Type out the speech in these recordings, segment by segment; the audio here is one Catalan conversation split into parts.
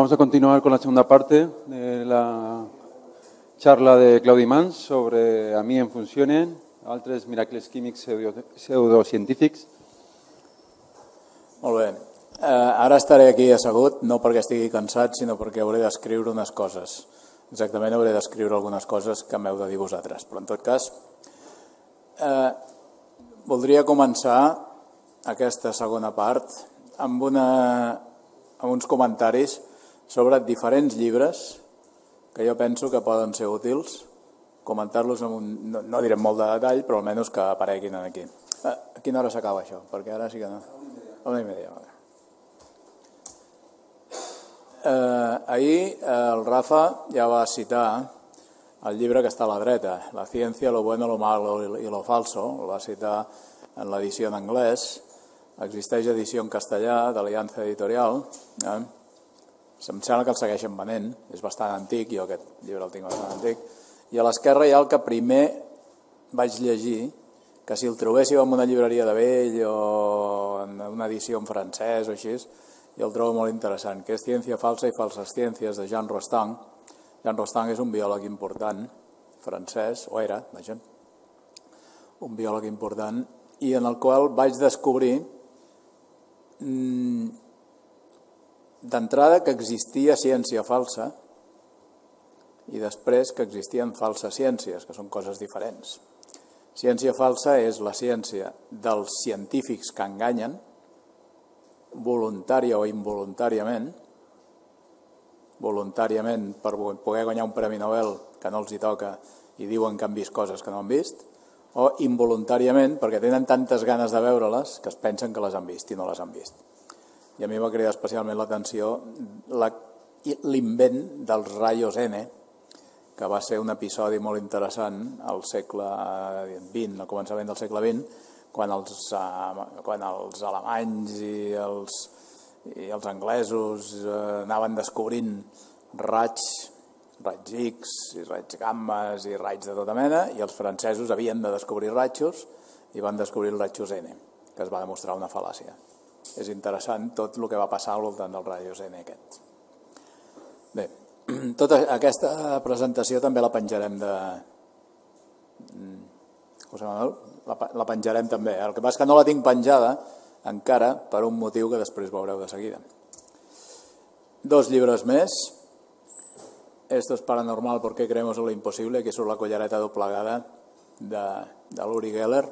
vamos a continuar con la segunda parte de la charla de Claudi Mans sobre a mi en funcionen, altres miracles químics pseudocientífics. Molt bé. Ara estaré aquí assegut, no perquè estigui cansat, sinó perquè hauré d'escriure unes coses. Exactament hauré d'escriure algunes coses que m'heu de dir vosaltres. Però en tot cas, voldria començar aquesta segona part amb uns comentaris sobre diferents llibres que jo penso que poden ser útils, comentar-los, no direm molt de detall, però almenys que apareguin aquí. A quina hora s'acaba això? Perquè ara sí que no. A 1:30. Ahir el Rafa ja va citar el llibre que està a la dreta, La ciencia, lo bueno, lo malo y lo falso, el va citar en l'edició en anglès, existeix edició en castellà d'Aliança Editorial, em sembla que el segueixen venent, és bastant antic, jo aquest llibre el tinc bastant antic, i a l'esquerra hi ha el que primer vaig llegir, que si el trobéssiu en una llibreria de vell o en una edició en francès o així, jo el trobo molt interessant, que és Ciència falsa i falses ciències, de Jean Rostand. Jean Rostand és un biòleg important, francès, o era, vaja, un biòleg important, i en el qual vaig descobrir d'entrada que existia ciència falsa i després que existien falses ciències, que són coses diferents. Ciència falsa és la ciència dels científics que enganyen, voluntària o involuntàriament, voluntàriament per poder guanyar un premi Nobel que no els hi toca i diuen que han vist coses que no han vist, o involuntàriament perquè tenen tantes ganes de veure-les que es pensen que les han vist i no les han vist. I a mi va cridar especialment l'atenció l'invent dels rajos N, que va ser un episodi molt interessant al segle XX, al començament del segle XX, quan els alemanys i els anglesos anaven descobrint raigs X i raigs gammes i raigs de tota mena, i els francesos havien de descobrir rajos i van descobrir els rajos N, que es va demostrar una fal·làcia. És interessant tot el que va passar al voltant dels rajos N aquests. Bé, tota aquesta presentació també la penjarem la penjarem també. El que passa és que no la tinc penjada encara per un motiu que després veureu de seguida. 2 llibres més. Esto es paranormal porque creemos en lo imposible, que és la collareta doblegada de l'Uri Geller.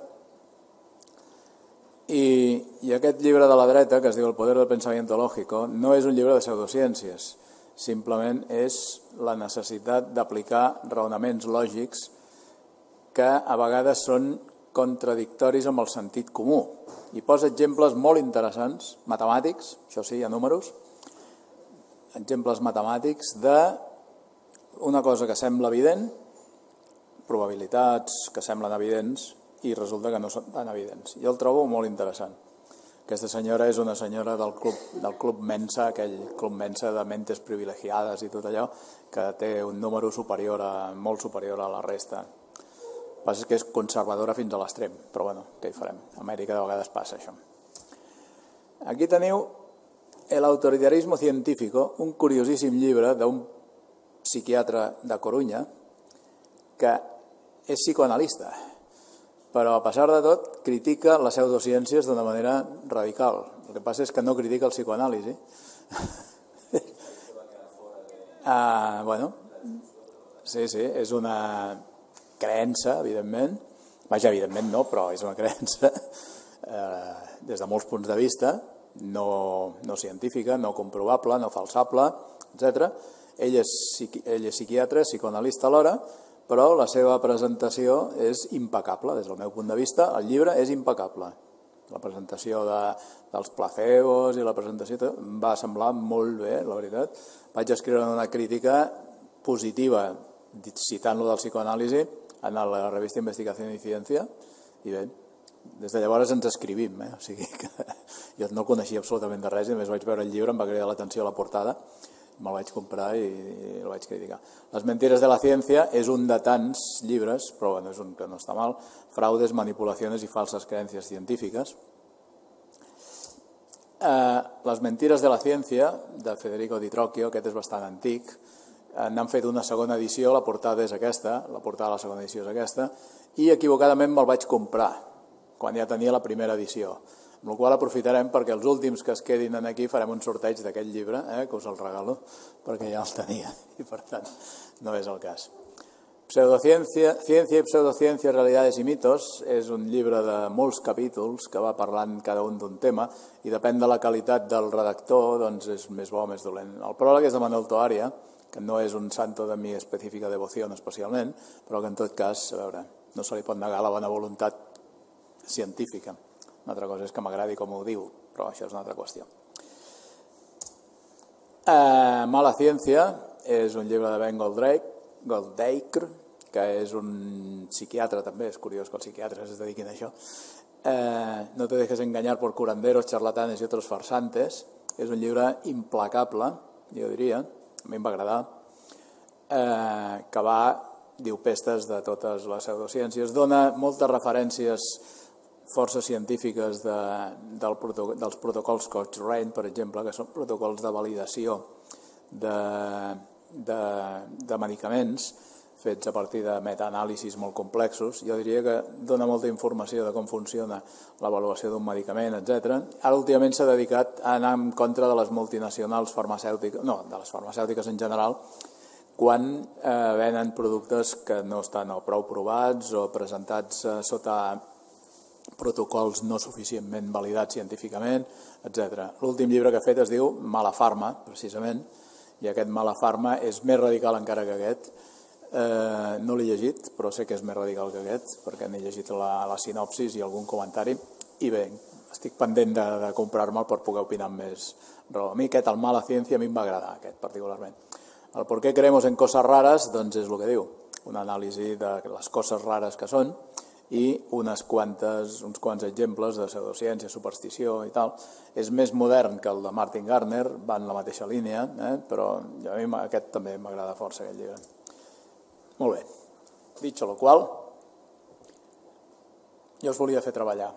I aquest llibre de la dreta, que es diu El poder del pensamiento lógico, no és un llibre de pseudociències, simplement és la necessitat d'aplicar raonaments lògics que a vegades són contradictoris amb el sentit comú. I posa exemples molt interessants, matemàtics, això sí, hi ha números, exemples matemàtics d'una cosa que sembla evident, probabilitats que semblen evidents, i resulta que no són tan evidents. Jo el trobo molt interessant. Aquesta senyora és una senyora del Club Mensa, aquell Club Mensa de mentes privilegiades i tot allò, que té un número molt superior a la resta. El que passa és que és conservadora fins a l'extrem, però bueno, què hi farem? A Amèrica de vegades passa això. Aquí teniu El autoritarismo científico, un curiosíssim llibre d'un psiquiatre de Corunya que és psicoanalista, però a pesar de tot critica les pseudociències d'una manera radical. El que passa és que no critica el psicoanàlisi. Bueno, sí, és una creença, evidentment. Vaja, evidentment no, però és una creença des de molts punts de vista, no científica, no comprovable, no falsable, etc. Ell és psiquiatre, psicoanalista alhora, però la seva presentació és impecable, des del meu punt de vista. El llibre és impecable. La presentació dels placebos i la presentació em va semblar molt bé, la veritat. Vaig escriure una crítica positiva, citant-lo del psicoanàlisi, en la revista Investigación y Ciencia, i bé, des de llavors ens escrivim, o sigui que jo no coneixia absolutament de res, i només vaig veure el llibre, em va cridar l'atenció a la portada, me'l vaig comprar i el vaig criticar. Les mentiras de la ciencia és un de tants llibres, però bueno, és un que no està mal, Fraudes, manipulaciones y falsas creencias científicas. Les mentires de la ciència, de Federico Di Trocchio, aquest és bastant antic, n'han fet una segona edició, la portada és aquesta, la portada de la segona edició és aquesta, i equivocadament me'l vaig comprar, quan ja tenia la primera edició. Amb la qual aprofitarem perquè els últims que es quedin aquí farem un sorteig d'aquest llibre, que us el regalo, perquè ja el tenia, i per tant no és el cas. Pseudociencia y pseudociencia, realidades y mitos és un llibre de molts capítols que va parlant cada un d'un tema i depèn de la qualitat del redactor, doncs és més bo o més dolent. El pròleg és de Manuel Toaria, que no és un santo de mi específica devoció especialment, però que en tot cas, a veure, no se li pot negar la bona voluntat científica. Una altra cosa és que m'agradi com ho diu, però això és una altra qüestió. Mala ciència és un llibre de Ben Goldacre, que és un psiquiatre també, és curiós que els psiquiatres es dediquin a això. No te dejes engañar por curanderos, charlatanes y otros farsantes. És un llibre implacable, jo diria, a mi em va agradar, que diu pestes de totes les pseudociències, dona moltes referències força científiques dels protocols Cochrane, per exemple, que són protocols de validació de medicaments fets a partir de metaanàlisis molt complexos. Jo diria que dona molta informació de com funciona l'avaluació d'un medicament, etc. Ara últimament s'ha dedicat a anar en contra de les multinacionals farmacèutiques, no, de les farmacèutiques en general, quan venen productes que no estan o prou provats o presentats sota protocols no suficientment validats científicament, etc. L'últim llibre que ha fet es diu Mala Farma, precisament, i aquest Mala Farma és més radical encara que aquest. No l'he llegit, però sé que és més radical que aquest, perquè n'he llegit la sinopsis i algun comentari, i bé, estic pendent de comprar-me'l per poder opinar amb més raó. A mi aquest, el Mala Ciència, a mi em va agradar, aquest particularment. El por qué creemos en cosas raras, doncs és el que diu, una anàlisi de les coses rares que són, i uns quants exemples de pseudociència, superstició i tal. És més modern que el de Martin Gardner, va en la mateixa línia, però a mi aquest també m'agrada força, aquest llibre. Molt bé. Dicho lo qual, jo us volia fer treballar.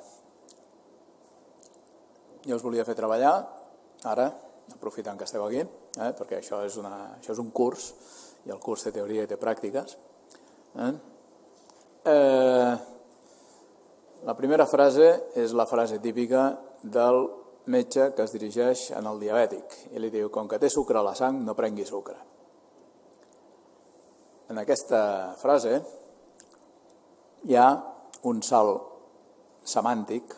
Ara, aprofitant que esteu aquí, perquè això és un curs, i el curs té teoria i té pràctiques. La primera frase és la frase típica del metge que es dirigeix al diabètic i li diu: com que té sucre a la sang, no prengui sucre. En aquesta frase hi ha un salt semàntic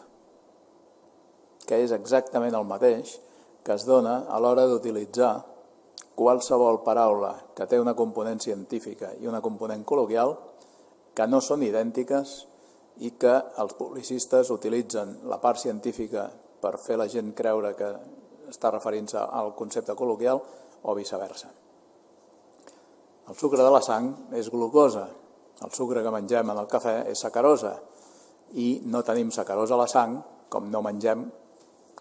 que és exactament el mateix que es dona a l'hora d'utilitzar qualsevol paraula que té una component científica i una component col·loquial que no són idèntiques i que els publicistes utilitzen la part científica per fer la gent creure que està referint-se al concepte col·loquial o viceversa. El sucre de la sang és glucosa, el sucre que mengem en el cafè és sacarosa i no tenim sacarosa a la sang com no mengem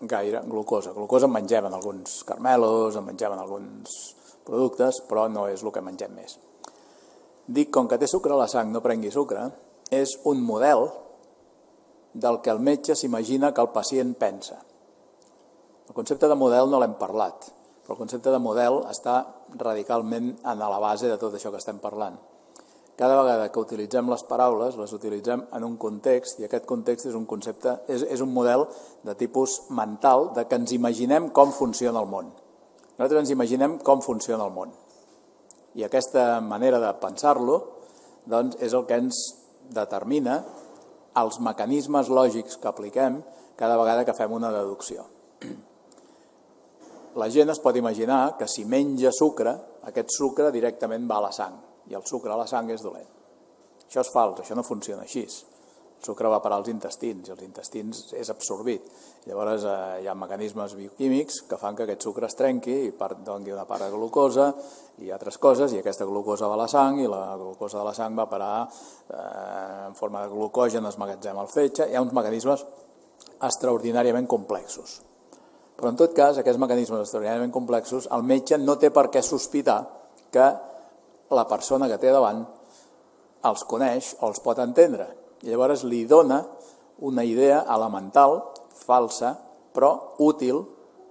gaire glucosa. Glucosa en mengem en alguns carmelos, en mengem en alguns productes, però no és el que mengem més. Dic, com que té sucre a la sang, no prengui sucre, és un model del que el metge s'imagina que el pacient pensa. El concepte de model no l'hem parlat, però el concepte de model està radicalment a la base de tot això que estem parlant. Cada vegada que utilitzem les paraules, les utilitzem en un context, i aquest context és un concepte, és un model de tipus mental, de que ens imaginem com funciona el món. Nosaltres ens imaginem com funciona el món. I aquesta manera de pensar-lo doncs, és el que ens determina els mecanismes lògics que apliquem cada vegada que fem una deducció. La gent es pot imaginar que si menja sucre, aquest sucre directament va a la sang, i el sucre a la sang és dolent. Això és fals, això no funciona així. El sucre va parar als intestins, i els intestins és absorbit. Llavors hi ha mecanismes bioquímics que fan que aquest sucre es trenqui i doni una part de glucosa i altres coses, i aquesta glucosa va a la sang, i la glucosa de la sang va a parar en forma de glucogen, es magatzema al fetge. Hi ha uns mecanismes extraordinàriament complexos. Però en tot cas, aquests mecanismes extraordinàriament complexos, el metge no té per què sospitar que la persona que té davant els coneix o els pot entendre. I llavors li dona una idea elemental, falsa, però útil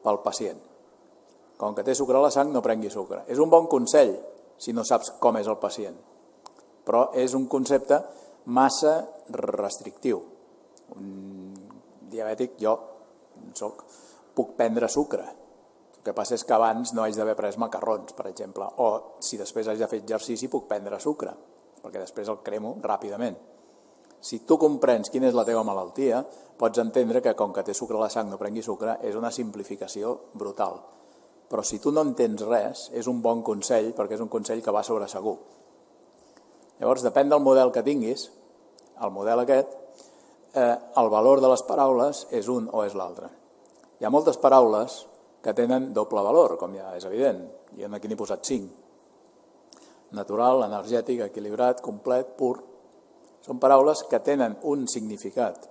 pel pacient. Com que té sucre a la sang, no prengui sucre. És un bon consell si no saps com és el pacient, però és un concepte massa restrictiu. Un diabètic, jo puc prendre sucre. El que passa és que abans no haig d'haver pres macarrons, per exemple, o si després haig de fer exercici puc prendre sucre, perquè després el cremo ràpidament. Si tu comprens quina és la teva malaltia, pots entendre que com que té sucre a la sang no prengui sucre és una simplificació brutal. Però si tu no entens res, és un bon consell, perquè és un consell que va sobre segur. Llavors, depèn del model que tinguis, el model aquest, el valor de les paraules és un o és l'altre. Hi ha moltes paraules que tenen doble valor, com ja és evident. Jo aquí n'he posat 5. Natural, energètic, equilibrat, complet, pur. Són paraules que tenen un significat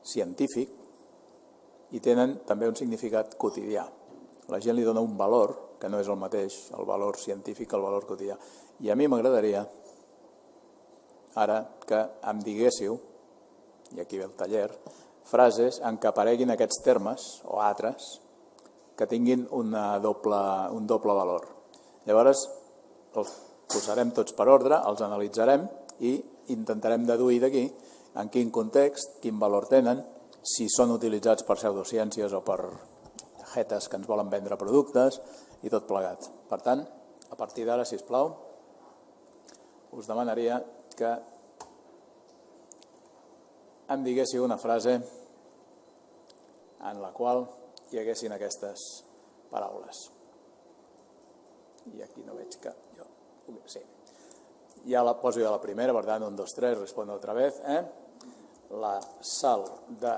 científic i tenen també un significat quotidià. La gent li dona un valor que no és el mateix, el valor científic que el valor quotidià. I a mi m'agradaria, ara, que em diguéssiu, i aquí ve el taller, frases en què apareguin aquests termes o altres que tinguin un doble valor. Llavors, els posarem tots per ordre, els analitzarem i intentarem deduir d'aquí en quin context, quin valor tenen, si són utilitzats per pseudociències o per jetes que ens volen vendre productes i tot plegat. Per tant, a partir d'ara, sisplau, us demanaria que em diguéssiu una frase en la qual hi haguessin aquestes paraules. I aquí no veig que jo... Sí. Ja la poso jo la primera, per tant, 1, 2, 3, respondo otra vez. La sal de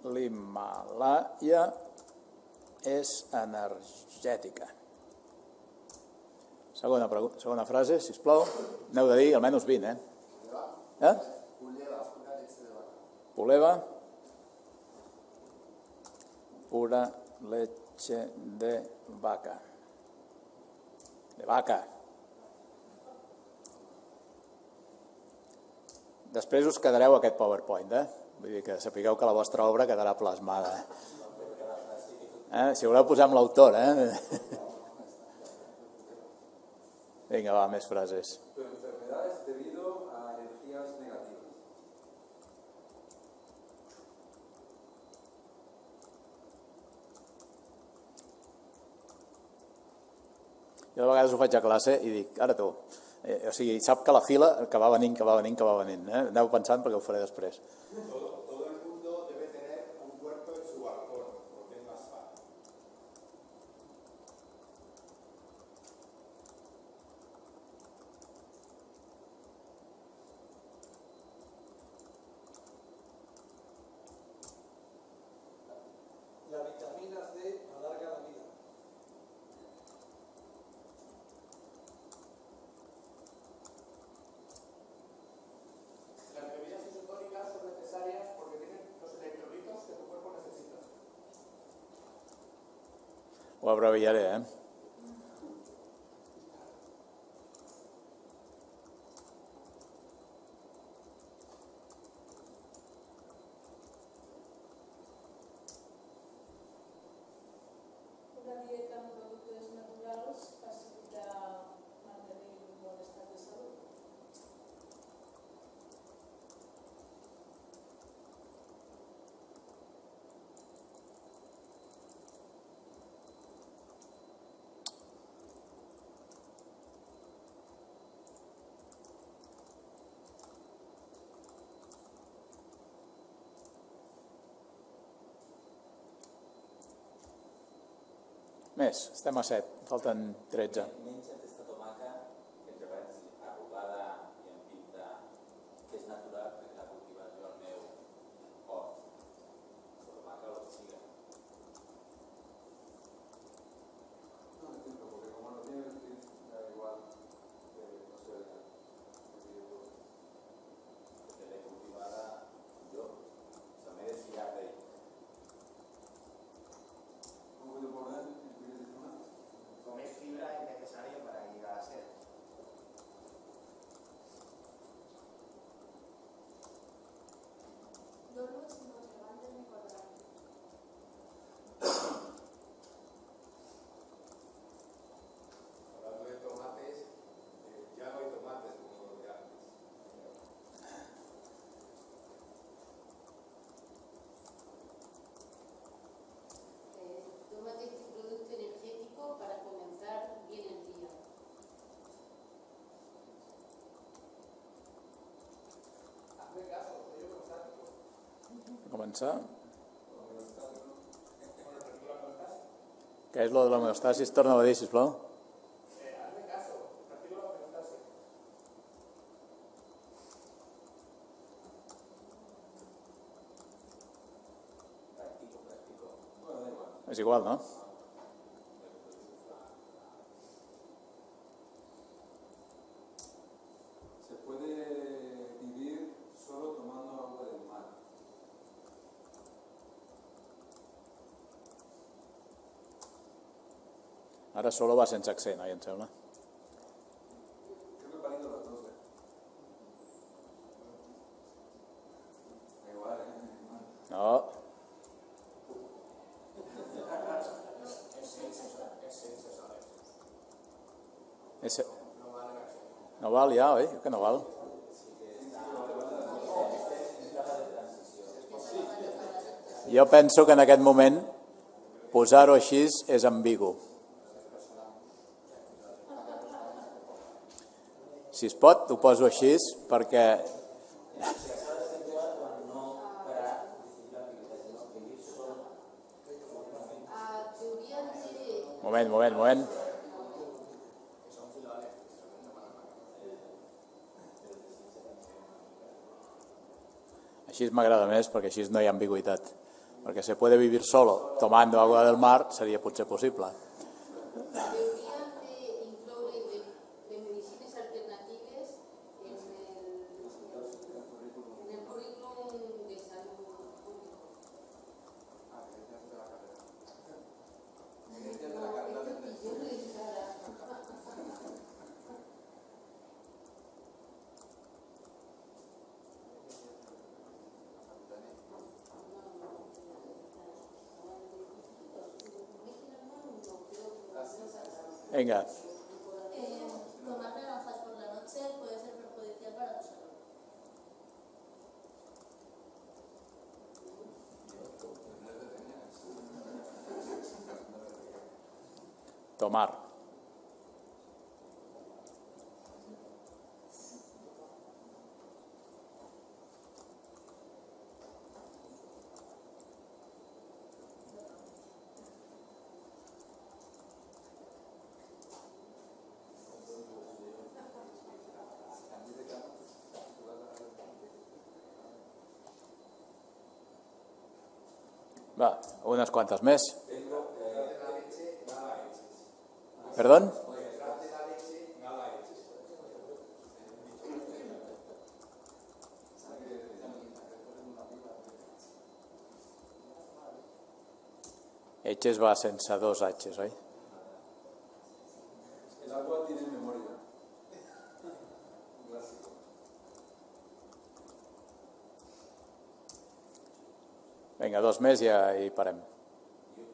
l'Himàlaia és energètica. Segona frase, sisplau. N'heu de dir almenys 20, Puleva, pura leche de vaca. De vaca. Després us quedareu aquest PowerPoint, Vull dir que sapigueu que la vostra obra quedarà plasmada. Si voleu posar amb l'autor, Vinga, va, més frases. Tu enfermedad es debido a energías negativas. Jo de vegades ho faig a classe i dic, ara tu, o sigui, sap que la fila que va venint. Aneu pensant perquè ho faré després. Todo el mundo debe tener un cuerpo en su balcón, porque es más fácil. La vitamina C alarga la vida. Las bebidas isotónicas son necesarias porque tienen los electrolitos que tu cuerpo necesita. Ho abreviaré, Una dieta amb productes naturals facilita mantenir un bon estat de salut. Més, estem a 7, falten 13. Menja aquesta tomaca, entre parèntesis, arrugada i en pinta, que és natural perquè l'ha cultivat jo al meu hort. La tomaca o lo que siga. No entiendo, porque como no tiene el kit, da igual que no sea legal. Porque l'he cultivada jo, o sea, m'he de fiar d'ell. ¿Cómo puedo poner el kit de tomate? Comer fibra es necesario. començar. Què és lo de l'homeostasis? Torna-ho a dir, sisplau. Hazme caso, practico la homeostasis. És igual, no? Se puede vivir solo tomando agua del mar. Ara solo va sense accent, em sembla. Creo que parido las dos. Da igual, No. No val ja, oi? Que no val. Jo penso que en aquest moment posar-ho així és ambigu. Si es pot, ho poso així perquè... Moment. Així m'agrada més perquè així no hi ha ambigüitat. Perquè se puede vivir solo tomando agua del mar seria potser possible. Deberían de incloure de medicines alternatives en el currículum de salud público. Venga. Tomar naranjas por la noche puede ser perjudicial para tu salud. Tomar. Va, unes quantes més. Perdón? H's va sense dos H's, oi? El agua tiene memoria. Clásico. Vinga, dos més i ja hi parem.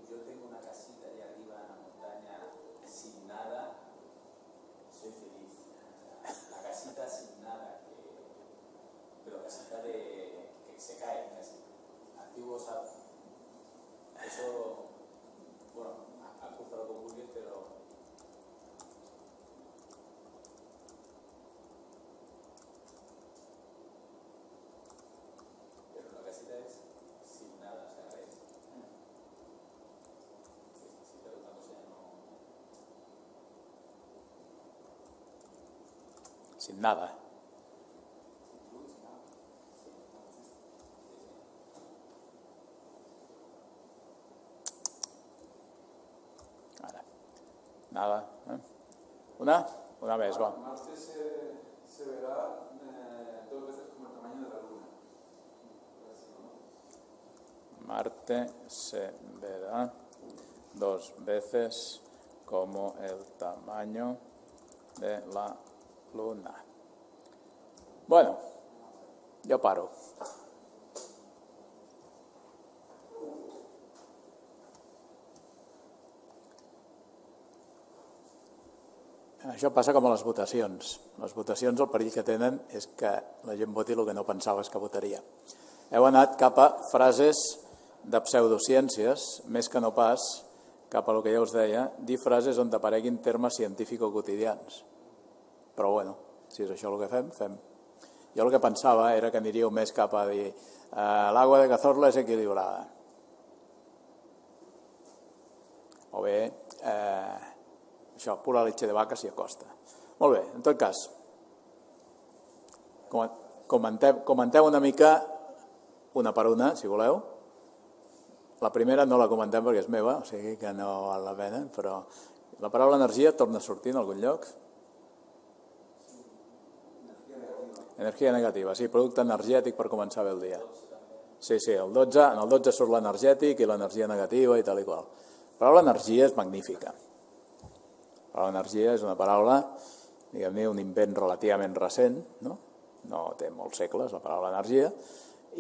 Yo tengo una casita allá arriba en la montaña sin nada, soy feliz. La casita sin nada, pero casita que se cae, casi. Antiguos, eso, bueno, han costado con Google, pero la casita es sin nada, o sea, es Sin nada. Ara. Nada. Una més, va. Marte se verá dos veces como el tamaño de la Luna. Marte se verá dos veces como el tamaño de la Luna. Bueno, jo paro. Això passa com a les votacions. Les votacions, el perill que tenen és que la gent voti el que no pensaves que votaria. Heu anat cap a frases de pseudociències, més que no pas cap a el que ja us deia, dir frases on apareguin termes científico-quotidians. Però bueno, si és això el que fem, fem. Jo el que pensava era que aniríeu més cap a dir l'aigua de Cazorla és equilibrada. O bé, això, pura leche de vaca s'hi acosta. Molt bé, en tot cas, comenteu una mica, una per una, si voleu. La primera no la comentem perquè és meva, o sigui que no val la pena, però la paraula energia torna a sortir en algun lloc. Energia negativa, sí, producte energètic per començar bé el dia. Sí, en el 12 surt l'energètic i l'energia negativa i tal i qual. La paraula energia és magnífica. La paraula energia és una paraula, diguem-ne, un invent relativament recent, no té molts segles la paraula energia,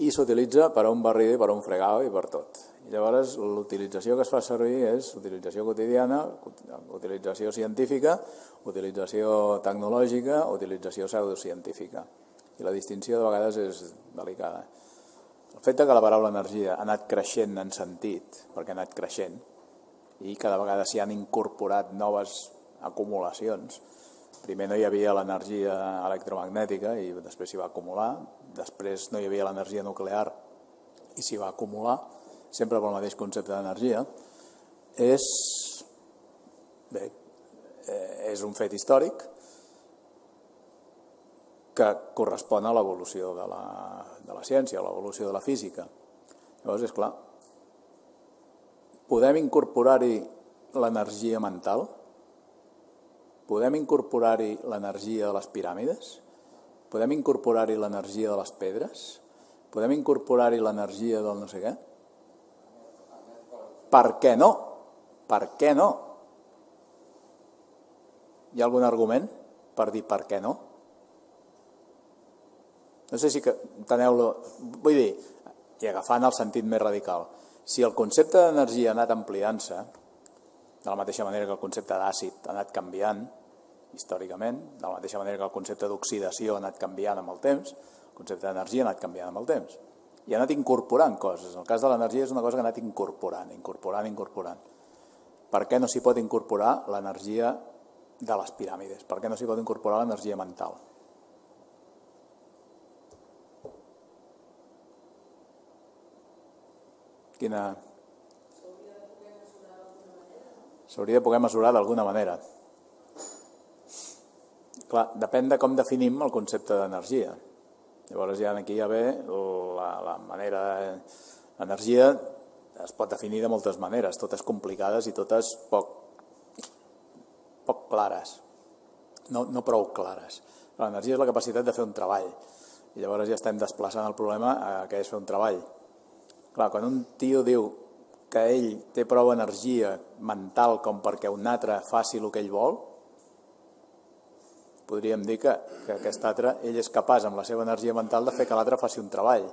i s'utilitza per a un barrido i per a un fregado i per tot. I llavors l'utilització que es fa servir és utilització quotidiana, utilització científica, utilització tecnològica, utilització pseudocientífica. I la distinció de vegades és delicada. El fet que la paraula energia ha anat creixent en sentit, perquè ha anat creixent, i cada vegada s'hi han incorporat noves acumulacions. Primer no hi havia l'energia electromagnètica i després s'hi va acumular, després no hi havia l'energia nuclear i s'hi va acumular, sempre pel mateix concepte d'energia. És un fet històric que correspon a l'evolució de la ciència, a l'evolució de la física. Llavors, és clar, podem incorporar-hi l'energia mental? Podem incorporar-hi l'energia de les piràmides? Podem incorporar-hi l'energia de les pedres? Podem incorporar-hi l'energia del no sé què? Per què no? Per què no? Hi ha algun argument per dir per què no? No sé si enteneu-lo. Vull dir, i agafant el sentit més radical, si el concepte d'energia ha anat ampliant-se, de la mateixa manera que el concepte d'àcid ha anat canviant històricament, de la mateixa manera que el concepte d'oxidació ha anat canviant amb el temps, el concepte d'energia ha anat canviant amb el temps. I ha anat incorporant coses. En el cas de l'energia és una cosa que ha anat incorporant. Per què no s'hi pot incorporar l'energia de les piràmides? Per què no s'hi pot incorporar l'energia mental? S'hauria de poder mesurar d'alguna manera. Clar, depèn de com definim el concepte d'energia. Llavors aquí ja ve la manera d'energia es pot definir de moltes maneres, totes complicades i totes poc clares, no prou clares. L'energia és la capacitat de fer un treball i llavors ja estem desplaçant el problema a què és fer un treball. Clar, quan un tio diu que ell té prou energia mental com perquè un altre faci el que ell vol, podríem dir que aquest altre, ell és capaç amb la seva energia mental de fer que l'altre faci un treball,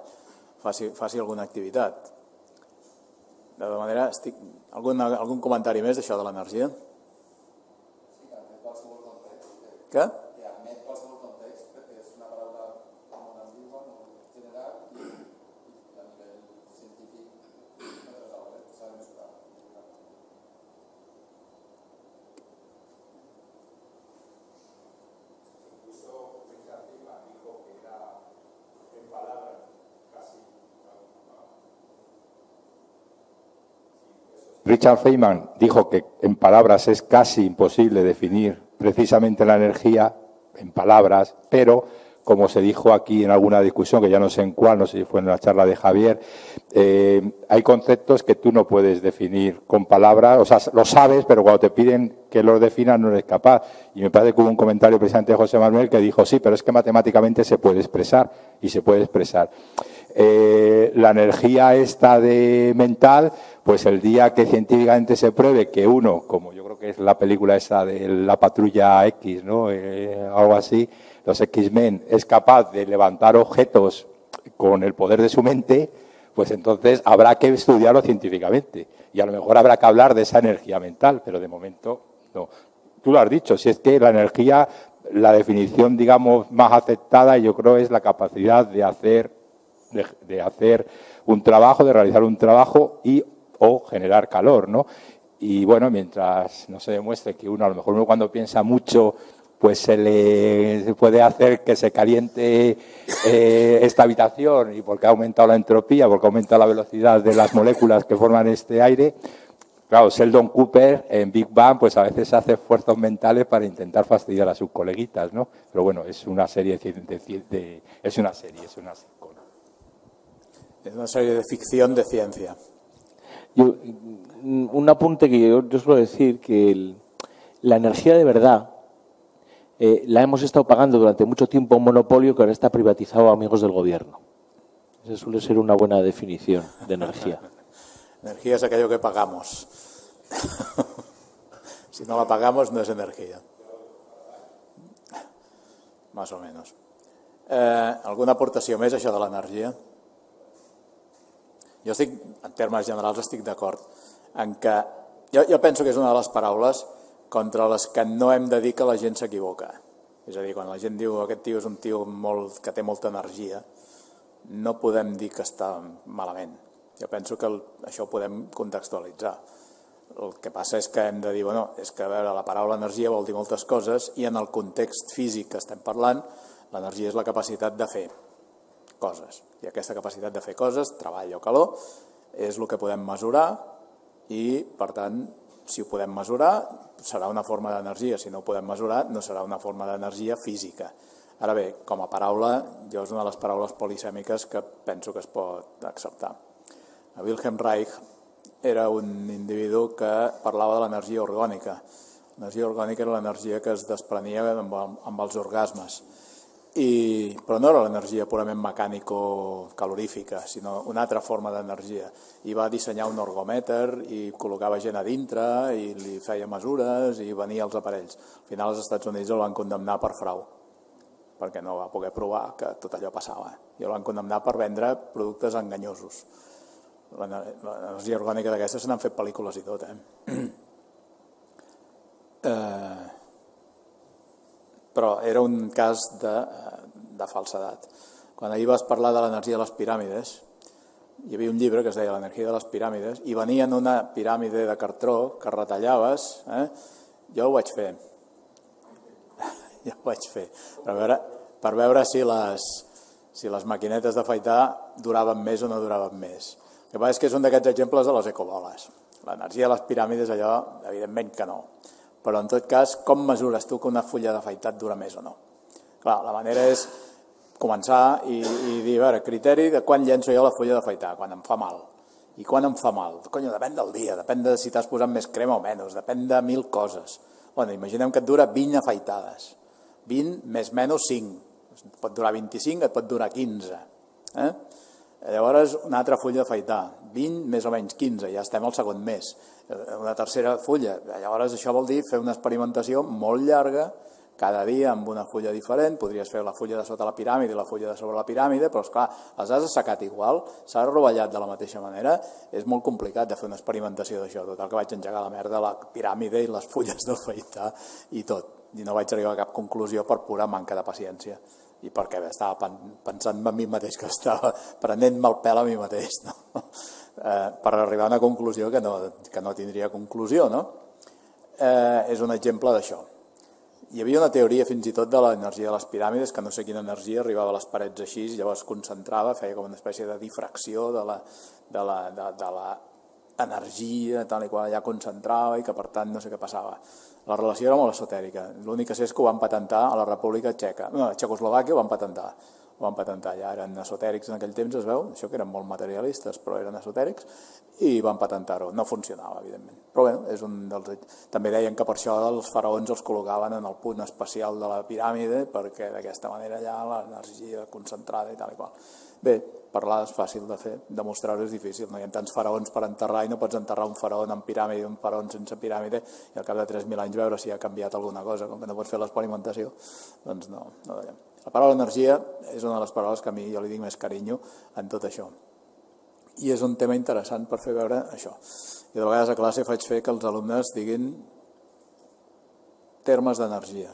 faci alguna activitat. De tota manera, algun comentari més d'això de l'energia? Sí, que admet qualsevol context. Què? Que admet qualsevol context perquè és una paraula molt ambigua, molt general i a nivell científic s'ha de mesurar. Incluso Richard Feynman dijo que era en palabras casi. Richard Feynman dijo que en palabras es casi imposible definir precisamente la energía en palabras, pero como se dijo aquí en alguna discusión, que ya no sé en cuál, no sé si fue en la charla de Javier, hay conceptos que tú no puedes definir con palabras, o sea, lo sabes, pero cuando te piden que los definas no eres capaz. Y me parece que hubo un comentario precisamente de José Manuel que dijo, sí, pero es que matemáticamente se puede expresar, y se puede expresar. La energía esta de mental, pues el día que científicamente se pruebe que uno, como yo creo que es la película esa de la Patrulla X, ¿no? Algo así, los X-Men, es capaz de levantar objetos con el poder de su mente, pues entonces habrá que estudiarlo científicamente. Y a lo mejor habrá que hablar de esa energía mental, pero de momento no. Tú lo has dicho, si es que la energía, la definición, digamos, más aceptada, yo creo, es la capacidad de hacer un trabajo, de realizar un trabajo o generar calor, ¿no? Y bueno, mientras no se demuestre que uno, a lo mejor uno cuando piensa mucho pues se puede hacer que se caliente esta habitación, y porque ha aumentado la entropía, porque ha aumentado la velocidad de las moléculas que forman este aire. Claro, Sheldon Cooper en Big Bang pues a veces hace esfuerzos mentales para intentar fastidiar a sus coleguitas, ¿no? Pero bueno, es una serie es una sitcom. Es una serie de ficción de ciencia. Un apunte que yo suelo decir, que la energía de verdad la hemos estado pagando durante mucho tiempo a un monopolio que ahora está privatizado a amigos del gobierno. Esa suele ser una buena definición de energía. Energía es aquello que pagamos. Si no la pagamos, no es energía. Más o menos. Alguna aportació més, això de l'energia? Jo estic, en termes generals, estic d'acord en que jo penso que és una de les paraules contra les que no hem de dir que la gent s'equivoca. És a dir, quan la gent diu aquest tio és un tio que té molta energia, no podem dir que està malament. Jo penso que això ho podem contextualitzar. El que passa és que hem de dir, bueno, és que a veure, la paraula energia vol dir moltes coses i en el context físic que estem parlant, l'energia és la capacitat de fer coses. I aquesta capacitat de fer coses, treball o calor, és el que podem mesurar i, per tant, si ho podem mesurar, serà una forma d'energia. Si no ho podem mesurar, no serà una forma d'energia física. Ara bé, com a paraula, jo és una de les paraules polisèmiques que penso que es pot acceptar. Wilhelm Reich era un individu que parlava de l'energia orgànica. L'energia orgànica era l'energia que es desprenia amb els orgasmes. Però no era l'energia purament mecànico-calorífica, sinó una altra forma d'energia. I va dissenyar un ergomèter i col·locava gent a dintre i li feia mesures i venia els aparells. Al final els Estats Units el van condemnar per frau, perquè no va poder provar que tot allò passava. I el van condemnar per vendre productes enganyosos. L'energia orgànica d'aquesta se n'han fet pel·lícules i tot, però era un cas de falsedat. Quan ahir vas parlar de l'energia de les piràmides, hi havia un llibre que es deia l'energia de les piràmides, i venia en una piràmide de cartró que retallaves, jo ho vaig fer. Jo ho vaig fer, per veure si les maquinetes d'afaitar duraven més o no duraven més. El que passa és que és un d'aquests exemples de les ecoboles. L'energia de les piràmides, allò, evidentment que no. Però, en tot cas, com mesures tu que una fulla d'afaitat dura més o no? Clar, la manera és començar i dir, a veure, criteri de quan llenço jo la fulla d'afaitar, quan em fa mal. I quan em fa mal? Conyo, depèn del dia, depèn de si t'has posat més crema o menys, depèn de 1000 coses. Bueno, imaginem que et dura 20 afaitades. 20 més menys 5. Et pot durar 25, et pot durar 15. Llavors, una altra fulla d'afaitar. 20 més o menys 15, ja estem al segon mes. Una tercera fulla. Llavors, això vol dir fer una experimentació molt llarga, cada dia amb una fulla diferent. Podries fer la fulla de sota la piràmide i la fulla de sobre la piràmide, però, esclar, les has assecat igual, s'ha rovellat de la mateixa manera. És molt complicat de fer una experimentació d'això. Total que vaig engegar la merda, la piràmide i les fulles d'afaitar i tot. I no vaig arribar a cap conclusió per pura manca de paciència. I perquè estava pensant en mi mateix, que estava prenent-me el pèl a mi mateix, no? Per arribar a una conclusió que no tindria conclusió, no? És un exemple d'això. Hi havia una teoria fins i tot de l'energia de les piràmides, que no sé quina energia arribava a les parets així, llavors concentrava, feia com una espècie de difracció de l'energia, tal i qual allà concentrava, i que per tant no sé què passava. La relació era molt esotèrica. L'únic que sé és que ho van patentar a la República Txeca. No, a Txecoslovàquia ho van patentar. Ja eren esotèrics en aquell temps, es veu, això que eren molt materialistes, però eren esotèrics, i van patentar-ho. No funcionava, evidentment. Però bé, també deien que per això els faraons els col·locaven en el punt especial de la piràmide, perquè d'aquesta manera allà l'energia concentrada i tal i qual. Bé, parlar és fàcil de fer, demostrar-ho és difícil. No hi ha tants faraons per enterrar i no pots enterrar un faraó amb piràmide i un faraó sense piràmide i al cap de 3.000 anys veure si ha canviat alguna cosa. Com que no pots fer l'experimentació, doncs no veiem. La paraula energia és una de les paraules que a mi jo li dic més carinyo en tot això. I és un tema interessant per fer veure això. I de vegades a classe faig fer que els alumnes diguin termes d'energia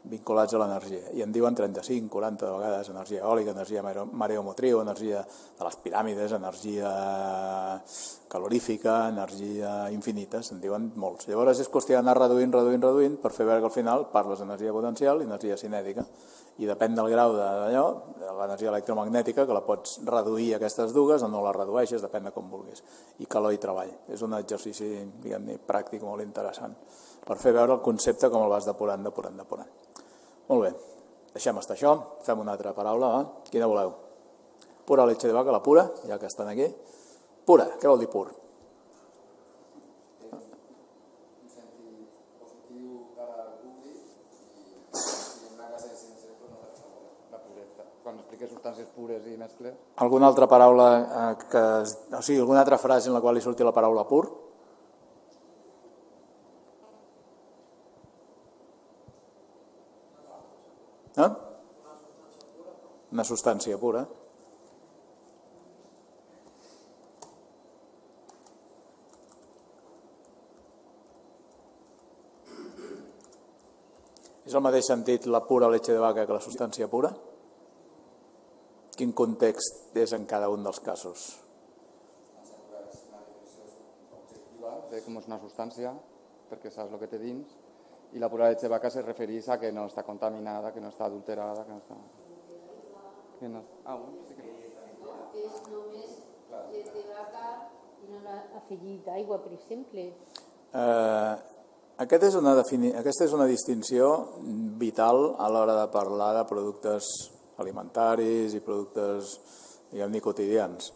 vinculats a l'energia. I en diuen 35, 40 de vegades, energia eòlica, energia mareomotriu, energia de les piràmides, energia calorífica, energia infinita, se'n diuen molts. Llavors és qüestió d'anar reduint per fer veure que al final parles d'energia potencial i energia cinètica, i depèn del grau d'allò, de l'energia electromagnètica, que la pots reduir aquestes dues o no la redueixes, depèn de com vulguis, i calor i treball. És un exercici, diguem-ne, pràctic molt interessant, per fer veure el concepte com el vas depurant. Molt bé, deixem estar això, fem una altra paraula, va? Quina voleu? Pura leche de vaca, la pura, ja que estan aquí. Pura, què vol dir pur? Un sentit positiu cara al públic i una casa de sense la puresa. Quan expliques substàncies pures i mescles... Alguna altra paraula, o sigui, alguna altra frase en la qual li surti la paraula pur? Una substància pura. És el mateix sentit la pura leche de vaca que la substància pura? Quin context és en cada un dels casos? Una definició objectiva de com és una substància, perquè saps el que té dins, i la pura leche de vaca se refereix a que no està contaminada, que no està adulterada, que no està... Que no... sí que... Que és només llet de vaca i no l'ha afegit aigua, per exemple. Aquesta és una distinció vital a l'hora de parlar de productes alimentaris i productes, diguem-ne, quotidians.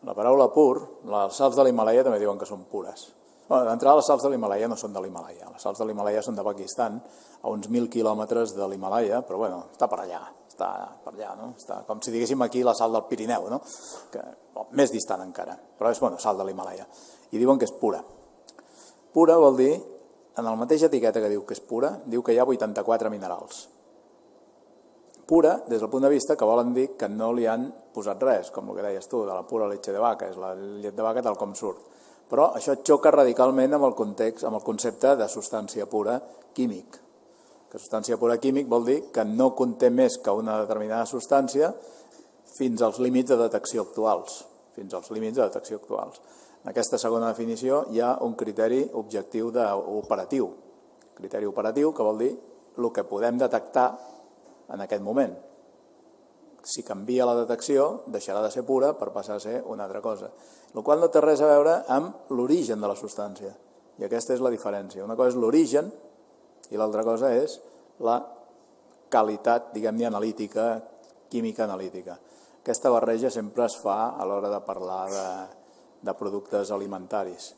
La paraula pur, les sals de l'Himàlaia també diuen que són pures. D'entrada, les sals de l'Himàlaia no són de l'Himàlaia. Les sals de l'Himàlaia són de Pakistan, a uns 1.000 quilòmetres de l'Himàlaia, però bueno, està per allà, no? Està com si diguéssim aquí la sal del Pirineu, no? Més distant encara, però és sal de l'Himàlaia. I diuen que és pura. Pura vol dir, en la mateixa etiqueta que diu que és pura, diu que hi ha 84 minerals. Pura, des del punt de vista que volen dir que no li han posat res, com el que deies tu, de la pura leche de vaca, és la llet de vaca tal com surt. Però això xoca radicalment amb el context, amb el concepte de substància pura químic. Que substància pura químic vol dir que no conté més que una determinada substància fins als límits de detecció actuals. En aquesta segona definició hi ha un criteri objectiu operatiu. Criteri operatiu que vol dir el que podem detectar en aquest moment. Si canvia la detecció, deixarà de ser pura per passar a ser una altra cosa. El qual no té res a veure amb l'origen de la substància. I aquesta és la diferència. Una cosa és l'origen i l'altra cosa és la qualitat, diguem-ne, analítica, química analítica. Aquesta barreja sempre es fa a l'hora de parlar de productes alimentaris.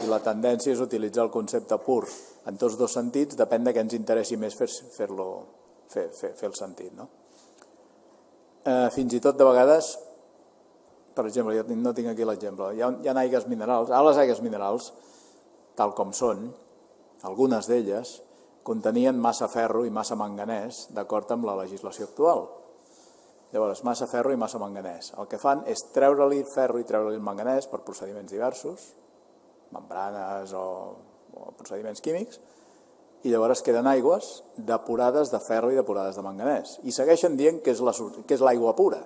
I la tendència és utilitzar el concepte pur en tots dos sentits, depèn de què ens interessi més fer el sentit, no? Fins i tot de vegades, per exemple, jo no tinc aquí l'exemple, hi ha aigues minerals, les aigues minerals, tal com són, algunes d'elles contenien massa ferro i massa manganès d'acord amb la legislació actual. Llavors, massa ferro i massa manganès. El que fan és treure-li ferro i treure-li el manganès per procediments diversos, membranes o procediments químics, i llavors queden aigües depurades de ferro i depurades de manganès. I segueixen dient que és l'aigua pura.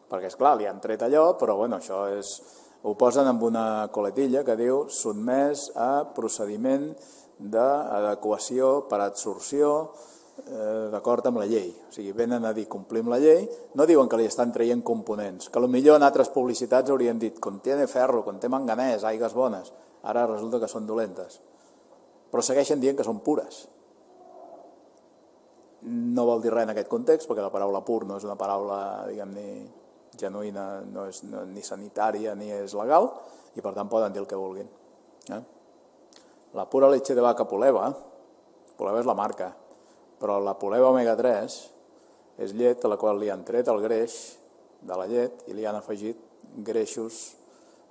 Perquè, esclar, li han tret allò, però bueno, això ho posen amb una coletilla que diu sotmès a procediment d'adequació per adsorció d'acord amb la llei. O sigui, venen a dir complim la llei, no diuen que li estan traient components, que potser en altres publicitats haurien dit contiene ferro, conté manganès, aigues bones. Ara resulta que són dolentes. Però segueixen dient que són pures. No vol dir res en aquest context, perquè la paraula pur no és una paraula, diguem-ne, genuïna, no és ni sanitària ni és legal, i per tant poden dir el que vulguin. La pura leche de vaca Puleva és la marca, però la Puleva omega 3 és llet a la qual li han tret el greix de la llet i li han afegit greixos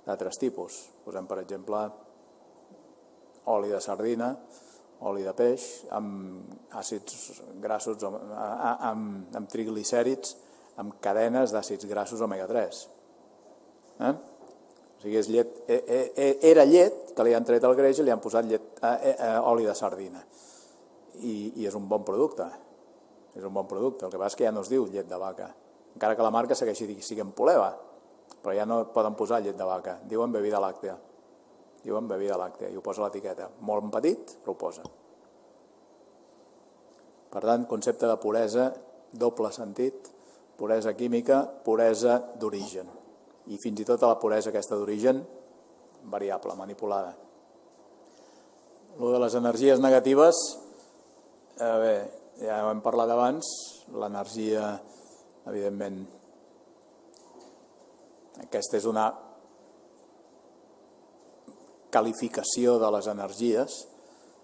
d'altres tipus. Posem, per exemple, oli de sardina, oli de peix, amb àcids grassos, amb triglicèrids, amb cadenes d'àcids grassos omega 3. O sigui, és llet, era llet que li han tret el greix i li han posat oli de sardina. I és un bon producte. És un bon producte. El que passa és que ja no es diu llet de vaca. Encara que la marca segueixi sent Puleva. però ja no poden posar llet de vaca, diuen bebida làctea. Diuen bebida làctea i ho posa a l'etiqueta. Molt en petit, però ho posa. Per tant, concepte de puresa, doble sentit, puresa química, puresa d'origen. I fins i tot la puresa aquesta d'origen, variable, manipulada. Lo de les energies negatives, bé, ja ho hem parlat abans, l'energia, evidentment, aquesta és una qualificació de les energies.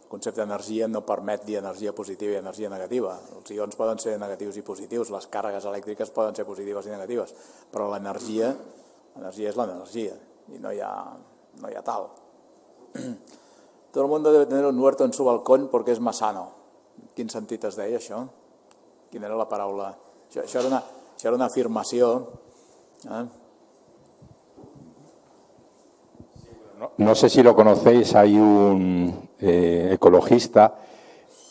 El concepte d'energia no permet dir energia positiva i energia negativa. Els ions poden ser negatius i positius, les càrregues elèctriques poden ser positives i negatives, però l'energia és l'energia y no hay tal. Todo el mundo debe tener un huerto en su balcón porque es más sano. Quin sentit es deia això? Quina era la paraula? Això era una afirmació. No sé si lo conocéis, hay un ecologista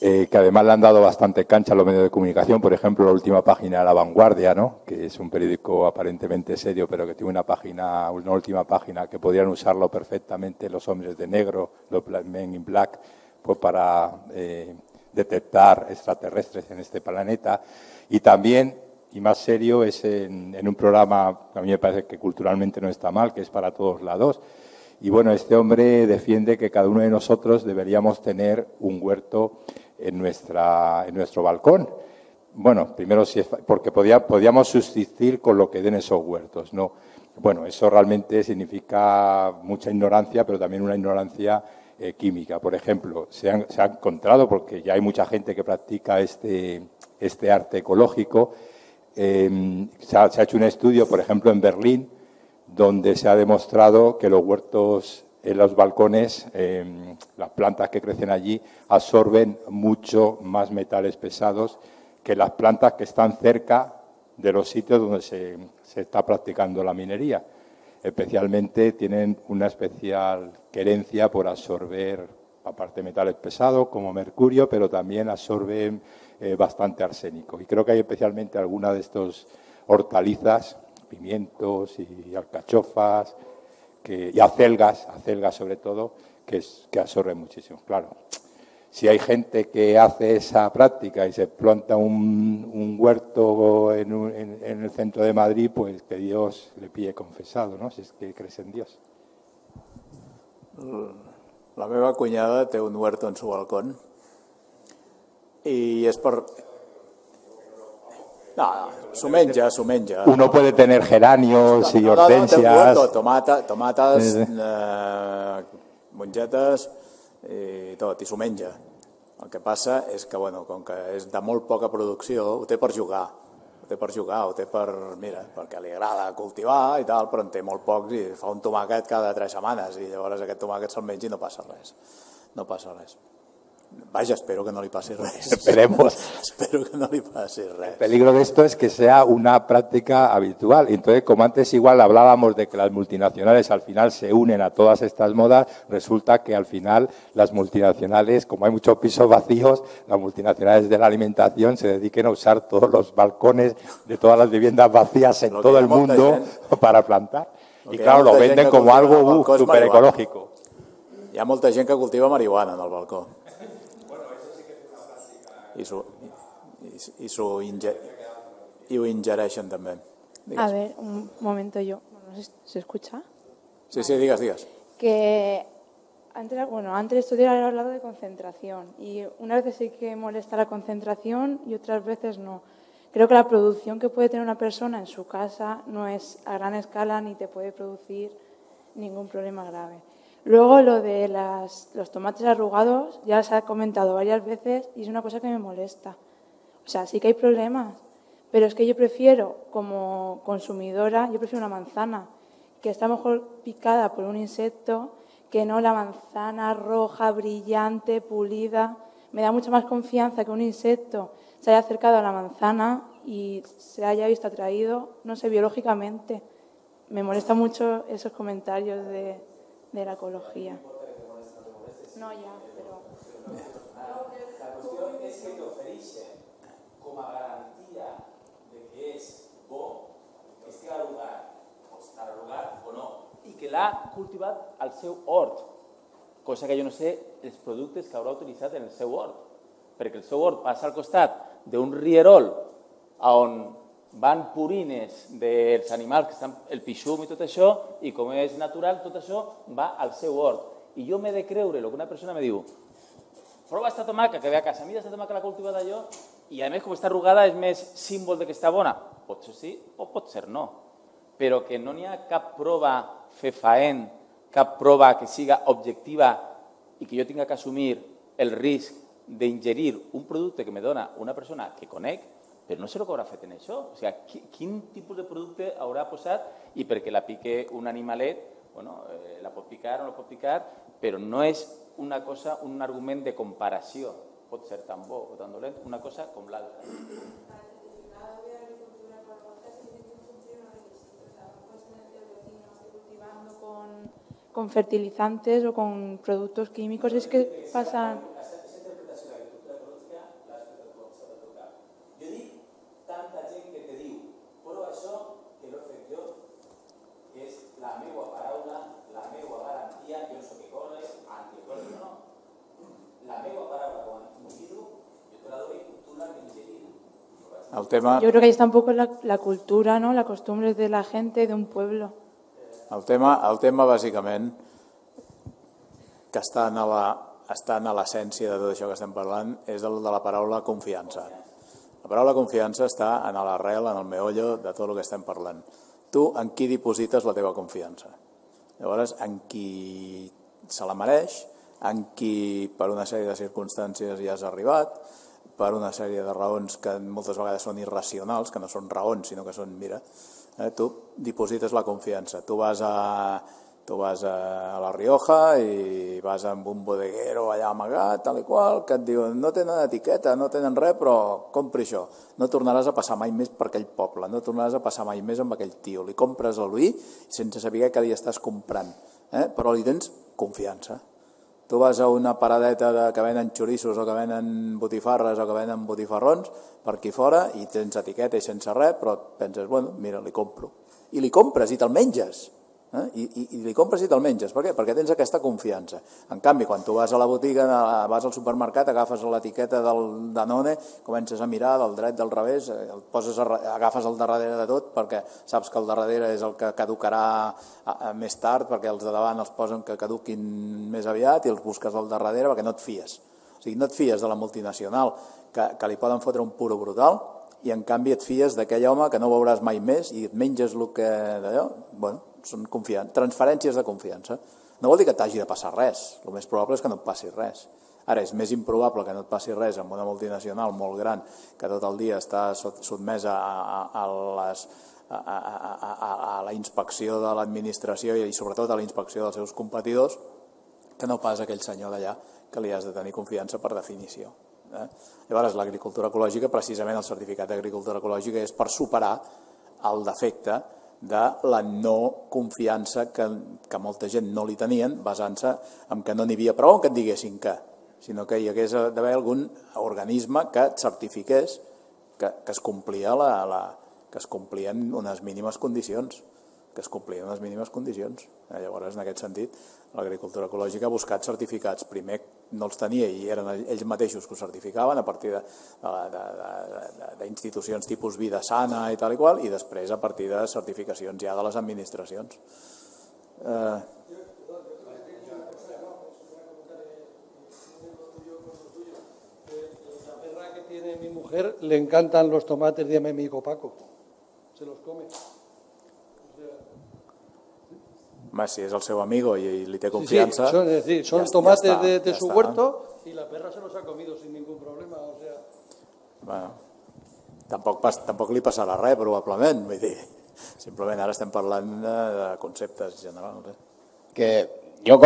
que además le han dado bastante cancha a los medios de comunicación, por ejemplo, la última página de La Vanguardia, ¿no?, que es un periódico aparentemente serio, pero que tiene una última página que podrían usarlo perfectamente los hombres de negro, los Men in Black, pues para detectar extraterrestres en este planeta. Y también, y más serio, es en un programa que a mí me parece que culturalmente no está mal, que es Para Todos Lados. Y bueno, este hombre defiende que cada uno de nosotros deberíamos tener un huerto en nuestro balcón. Bueno, primero porque podíamos subsistir con lo que den esos huertos, ¿no? Bueno, eso realmente significa mucha ignorancia, pero también una ignorancia química. Por ejemplo, se ha encontrado, porque ya hay mucha gente que practica este arte ecológico, se ha hecho un estudio, por ejemplo, en Berlín, donde se ha demostrado que los huertos en los balcones, las plantas que crecen allí, absorben mucho más metales pesados que las plantas que están cerca de los sitios donde se está practicando la minería. Especialmente tienen una especial querencia por absorber, aparte de metales pesados como mercurio, pero también absorben bastante arsénico. Y creo que hay especialmente algunas de estas hortalizas, pimientos y alcachofas, y acelgas sobre todo, que absorben muchísimo. Claro, si hay gente que hace esa práctica y se planta un huerto en el centro de Madrid, pues que Dios le pille confesado, ¿no?, si es que crees en Dios. La meva cunyada té un huerto en su balcón i és per... No, s'ho menja. Uno puede tener geranios y hortensias. Tomates, mongetes i tot, i s'ho menja. El que passa és que, bueno, com que és de molt poca producció, ho té per jugar. Mira, perquè li agrada cultivar i tal, però en té molt pocs i fa un tomàquet cada 3 setmanes i llavors aquest tomàquet se'l menja i no passa res. Vaya, espero que no le pase res. Esperemos. Espero que no le pase res. El peligro de esto es que sea una práctica habitual. Entonces, como antes igual hablábamos de que las multinacionales al final se unen a todas estas modas, resulta que al final las multinacionales, como hay muchos pisos vacíos, las multinacionales de la alimentación se dediquen a usar todos los balcones de todas las viviendas vacías en todo el mundo para plantar. Y claro, lo venden como algo súper ecológico. Hi ha molta gent que cultiva marihuana en el balcó. Y ho ingereixen també. A ver, un momento yo. ¿Se escucha? Sí, digas. Que antes tú habías hablado de concentración y unas veces sí que molesta la concentración y otras veces no. Creo que la producción que puede tener una persona en su casa no es a gran escala ni te puede producir ningún problema grave. Luego lo de los tomates arrugados, ya se ha comentado varias veces y es una cosa que me molesta. O sea, sí que hay problemas, pero es que yo prefiero, como consumidora, una manzana que está mejor picada por un insecto que no la manzana roja, brillante, pulida. Me da mucha más confianza que un insecto se haya acercado a la manzana y se haya visto atraído, no sé, biológicamente. Me molesta mucho esos comentarios de la ecología. No, ya, pero... La cuestión es que te ofereixen com a garantia de que és bo que estigui al lugar o estar al l'ha cultivat al seu hort, cosa que jo no sé els productes que haurà utilitzat en el seu hort, perquè el seu hort passa al costat d'un rierol on van purines dels animals que estan el pixum i tot això, i com és natural, tot això va al seu hort. I jo m'he de creure el que una persona me diu, prova esta tomaca que ve a casa, mira esta tomaca la cultivada jo, i a més com està arrugada és més símbol de que està bona. Pot ser sí o pot ser no, però que no n'hi ha cap prova fefaent, cap prova que siga objectiva i que jo tinga que assumir el risc d'ingerir un producte que me dona una persona que conec, però no sé el que haurà fet en això. O sigui, quin tipus de producte haurà posat i perquè la pique un animalet, bueno, la pot picar o no la pot picar, però no és una cosa, un argument de comparació. Pot ser tan bo o tan dolent, una cosa com l'altra. Con fertilizantes o con productos químicos, es que pasan... Jo dic tanta gent que te diu, però això que l'he fet jo, que és la meva paraula, la meva garantia, jo no sé què corre, anticorre, no. La meva paraula com a individu, jo te la doy, tu la ingerir. El tema... Yo creo que ahí está un poco la cultura, ¿no? La costumbre de la gente, de un pueblo. El tema bàsicament, que està en l'essència de tot això que estem parlant, és el de la paraula confiança. La paraula confiança està en l'arrel, en el meollo de tot el que estem parlant. Tu en qui diposites la teva confiança? Llavors, en qui se la mereix, en qui per una sèrie de circumstàncies hi has arribat, per una sèrie de raons que moltes vegades són irracionals, que no són raons, sinó que són, mira, tu diposites la confiança. Tu vas a La Rioja i vas amb un bodeguero allà amagat, tal i qual, que et diuen no tenen etiqueta, no tenen res, però compri això. No tornaràs a passar mai més per aquell poble, no tornaràs a passar mai més amb aquell tio. Li compres el vi sense saber què li estàs comprant, però li tens confiança. Tu vas a una paradeta que venen xorissos o que venen botifarres o que venen botifarrons per aquí fora i tens etiqueta i sense res, però penses, bueno, mira, li compro. I li compres i te'l menges. I li compres i te'l menges. Per què? Perquè tens aquesta confiança. En canvi, quan tu vas a la botiga, vas al supermercat, agafes l'etiqueta del Danone, comences a mirar del dret, del revés, agafes el darrere de tot perquè saps que el darrere és el que caducarà més tard, perquè els de davant els posen que caduquin més aviat i els busques al darrere perquè no et fies. O sigui, no et fies de la multinacional que li poden fotre un puro brutal i en canvi et fies d'aquell home que no veuràs mai més i et menges el que d'allò. Bueno, són transferències de confiança. No vol dir que t'hagi de passar res, el més probable és que no et passi res. Ara, és més improbable que no et passi res amb una multinacional molt gran que tot el dia està sotmesa a la inspecció de l'administració i sobretot a la inspecció dels seus competidors que no pas aquell senyor d'allà que li has de tenir confiança per definició. Llavors, l'agricultura ecològica, precisament el certificat d'agricultura ecològica és per superar el defecte de la no confiança que molta gent no li tenien, basant-se en que no n'hi havia prou que et diguessin que, sinó que hi hagués d'haver algun organisme que et certifiqués que es complien unes mínimes condicions. Llavors, en aquest sentit, l'agricultura ecològica ha buscat certificats. Primer no els tenia i eren ells mateixos que ho certificaven a partir d'institucions tipus Vida Sana i tal i qual, i després a partir de certificacions ja de les administracions. La perra que tiene mi mujer le encantan los tomates de mi amigo Paco. Se los come. Si és el seu amigo y li té confianza. Sí, son tomates de su huerto y la perra se los ha comido sin ningún problema. O sea... Bueno, tampoc li passarà res, probablement. Vull dir, simplement ara estem parlant de conceptes generals. Que jo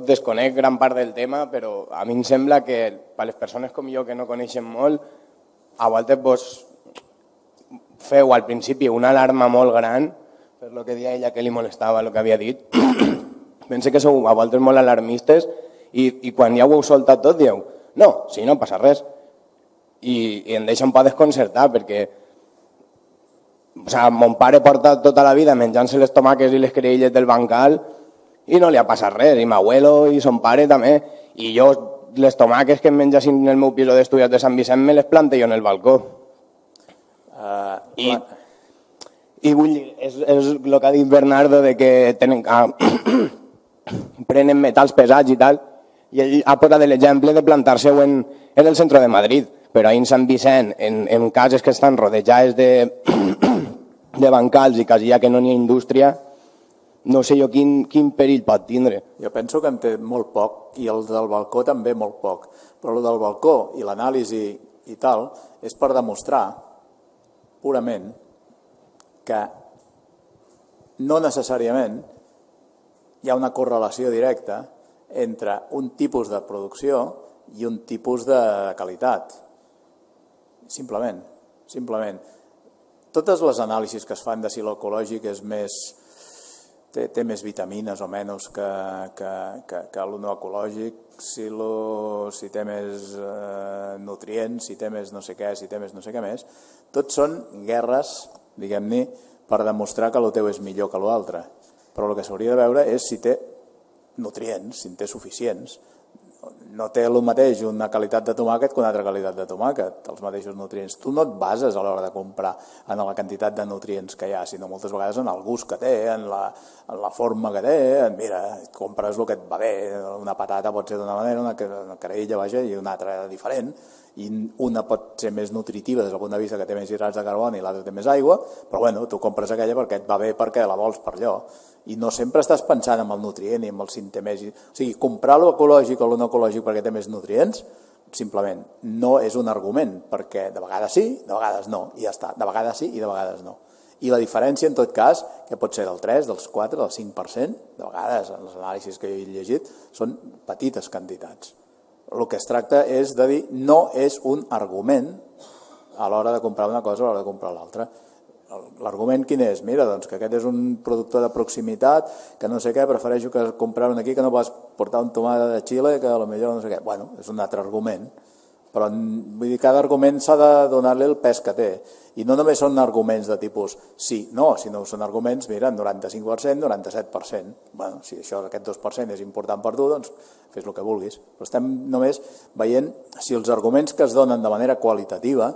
desconec gran part del tema, però a mi em sembla que per les persones com jo que no coneixen molt, a voltes vos feu al principi una alarma molt gran per el que deia ella que li molestava el que havia dit. Pense que sou a voltes molt alarmistes i quan ja ho heu soltat tot dieu no, si no passa res. I em deixa un poc desconcertar perquè O sea, mon pare porta tota la vida menjant-se les tomaques i les creïlles del bancal i no li ha passat res, i m'abuelo i son pare també, i jo les tomaques que em menjassin en el meu pis d'estudiants de Sant Vicent me les plante jo en el balcó. I vull dir, és el que ha dit Bernardo de que prenen metals pesats i tal, i ell ha posat l'exemple de plantar-se-ho en el centre de Madrid, però ahir en Sant Vicent, en cases que estan rodejades de bancals i quasi ja que no n'hi ha indústria, no sé jo quin perill pot tindre. Jo penso que en té molt poc, i el del balcó també molt poc, però el del balcó i l'anàlisi i tal és per demostrar purament que no necessàriament hi ha una correlació directa entre un tipus de producció i un tipus de qualitat. Simplement. Totes les anàlisis que es fan de si l'ecològic és més, té més vitamines o menys que el no ecològic, si té més nutrients, si té més no sé què, si té més no sé què més, tots són guerres, diguem-ne, per demostrar que el teu és millor que l'altre. Però el que s'hauria de veure és si té nutrients, si en té suficients. No té el mateix una qualitat de tomàquet que una altra qualitat de tomàquet, els mateixos nutrients. Tu no et bases a l'hora de comprar en la quantitat de nutrients que hi ha, sinó moltes vegades en el gust que té, en la forma que té. Mira, compres el que et va bé. Una patata pot ser d'una manera, una creïlla, vaja, i una altra diferent. I una pot ser més nutritiva des del punt de vista que té més hidrats de carboni i l'altra té més aigua, però bueno, tu compres aquella perquè et va bé, perquè la vols per allò. I no sempre estàs pensant en el nutrient i en el si té més... O sigui, comprar lo ecològic o lo no ecològic perquè té més nutrients, simplement no és un argument, perquè de vegades sí, de vegades no, i ja està. De vegades sí i de vegades no. I la diferència, en tot cas, que pot ser del 3, dels 4, del 5%, de vegades, en les anàlisis que jo he llegit, són petites quantitats. El que es tracta és de dir no és un argument a l'hora de comprar una cosa o a l'hora de comprar l'altra. L'argument quin és? Mira, doncs que aquest és un productor de proximitat, que no sé què, prefereixo que comprar-un aquí que no vas portar un tomàquet de Xile, que potser no sé què. Bueno, és un altre argument, però vull dir, cada argument s'ha de donar-li el pes que té. I no només són arguments de tipus sí, no, sinó són arguments, mira, 95%, 97%. Bueno, si això, aquest 2% és important per tu, doncs fes el que vulguis. Però estem només veient si els arguments que es donen de manera qualitativa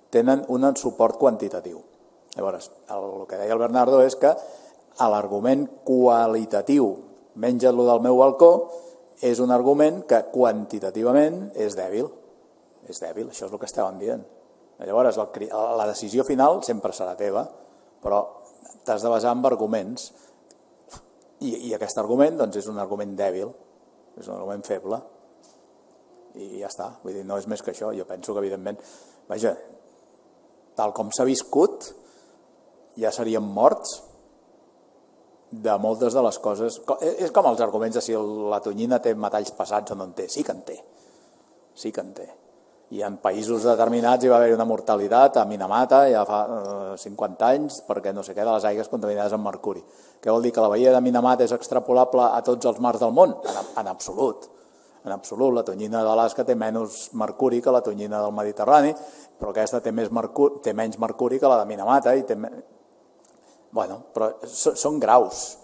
tenen un suport quantitatiu. Llavors, el que deia el Bernardo és que l'argument qualitatiu, menja-lo del meu balcó, és un argument que quantitativament és dèbil. És dèbil, això és el que estàvem dient. Llavors, la decisió final sempre serà teva, però t'has de basar en arguments. I aquest argument doncs, és un argument dèbil, és un argument feble. I ja està, vull dir, no és més que això. Jo penso que, evidentment, vaja, tal com s'ha viscut, ja seríem morts de moltes de les coses. És com els arguments de si la tonyina té metalls pesats o no en té. Sí que en té. Sí que en té. I en països determinats hi va haver una mortalitat a Minamata ja fa 50 anys perquè no sé què de les aigües contaminades amb mercuri. Què vol dir? Que la bahia de Minamata és extrapolable a tots els mars del món? En absolut. En absolut, la tonyina d'Alaska té menys mercuri que la tonyina del Mediterrani, però aquesta té menys mercuri que la de Minamata. Bueno, però són graus.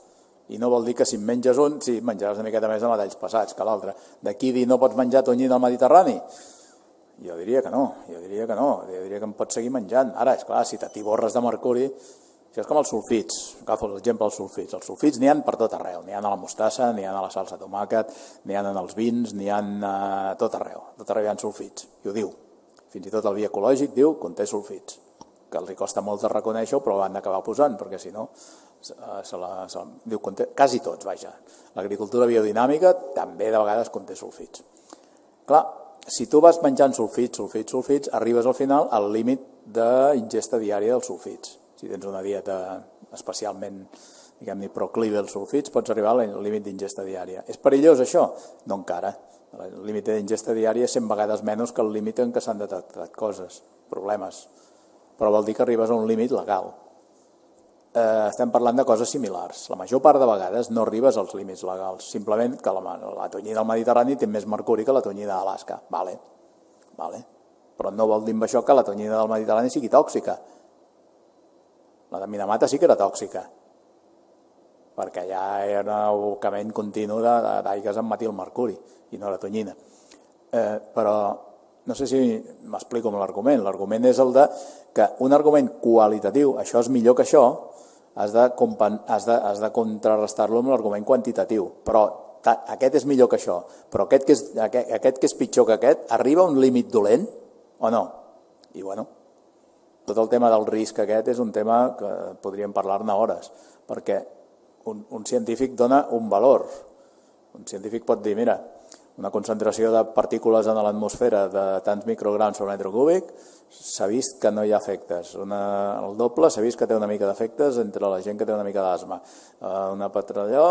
I no vol dir que si en menges un, sí, menjaràs una miqueta més de metalls pesats que l'altre. D'aquí dir no pots menjar tonyina al Mediterrani? Jo diria que no, jo diria que en pots seguir menjant. Ara, esclar, si t'atiborres de mercuri, això és com els sulfits, agafo l'exemple dels sulfits. Els sulfits n'hi ha per tot arreu, n'hi ha a la mostassa, n'hi ha a la salsa de tomàquet, n'hi ha en els vins, n'hi ha a tot arreu hi ha sulfits, i ho diu. Fins i tot el vi ecològic diu que conté sulfits, que els costa molt de reconèixer-ho, però ho han d'acabar posant, perquè si no, diu, quasi tots, vaja. L'agricultura biodinàmica també de vegades conté sulfits. Clar, si tu vas menjant sulfits, arribes al final al límit d'ingesta diària dels sulfits. Si tens una dieta especialment, diguem-ne, proclive als sulfits, pots arribar al límit d'ingesta diària. És perillós això? No encara. El límit d'ingesta diària és 100 vegades menys que el límit en què s'han detectat coses, problemes. Però vol dir que arribes a un límit legal. Estem parlant de coses similars. La major part de vegades no arribes als límits legals, simplement que la tonyina del Mediterrani té més mercuri que la tonyina d'Alaska. Vale. Però no vol dir amb això que la tonyina del Mediterrani sigui tòxica. La de Minamata sí que era tòxica, perquè allà era un abocament continu d'aigues amb metilmercuri i no la tonyina. Però no sé si m'explico amb l'argument. L'argument és el de que un argument qualitatiu, això és millor que això, has de contrarrestar-lo amb l'argument quantitatiu. Però aquest és millor que això, però aquest que és pitjor que aquest, arriba a un límit dolent o no? I bueno, tot el tema del risc aquest és un tema que podríem parlar-ne hores, perquè un científic dona un valor. Un científic pot dir, mira, una concentració de partícules en l'atmosfera de tants micrograms per metre cúbic, s'ha vist que no hi ha efectes. El doble s'ha vist que té una mica d'efectes entre la gent que té una mica d'asma. Una petralló,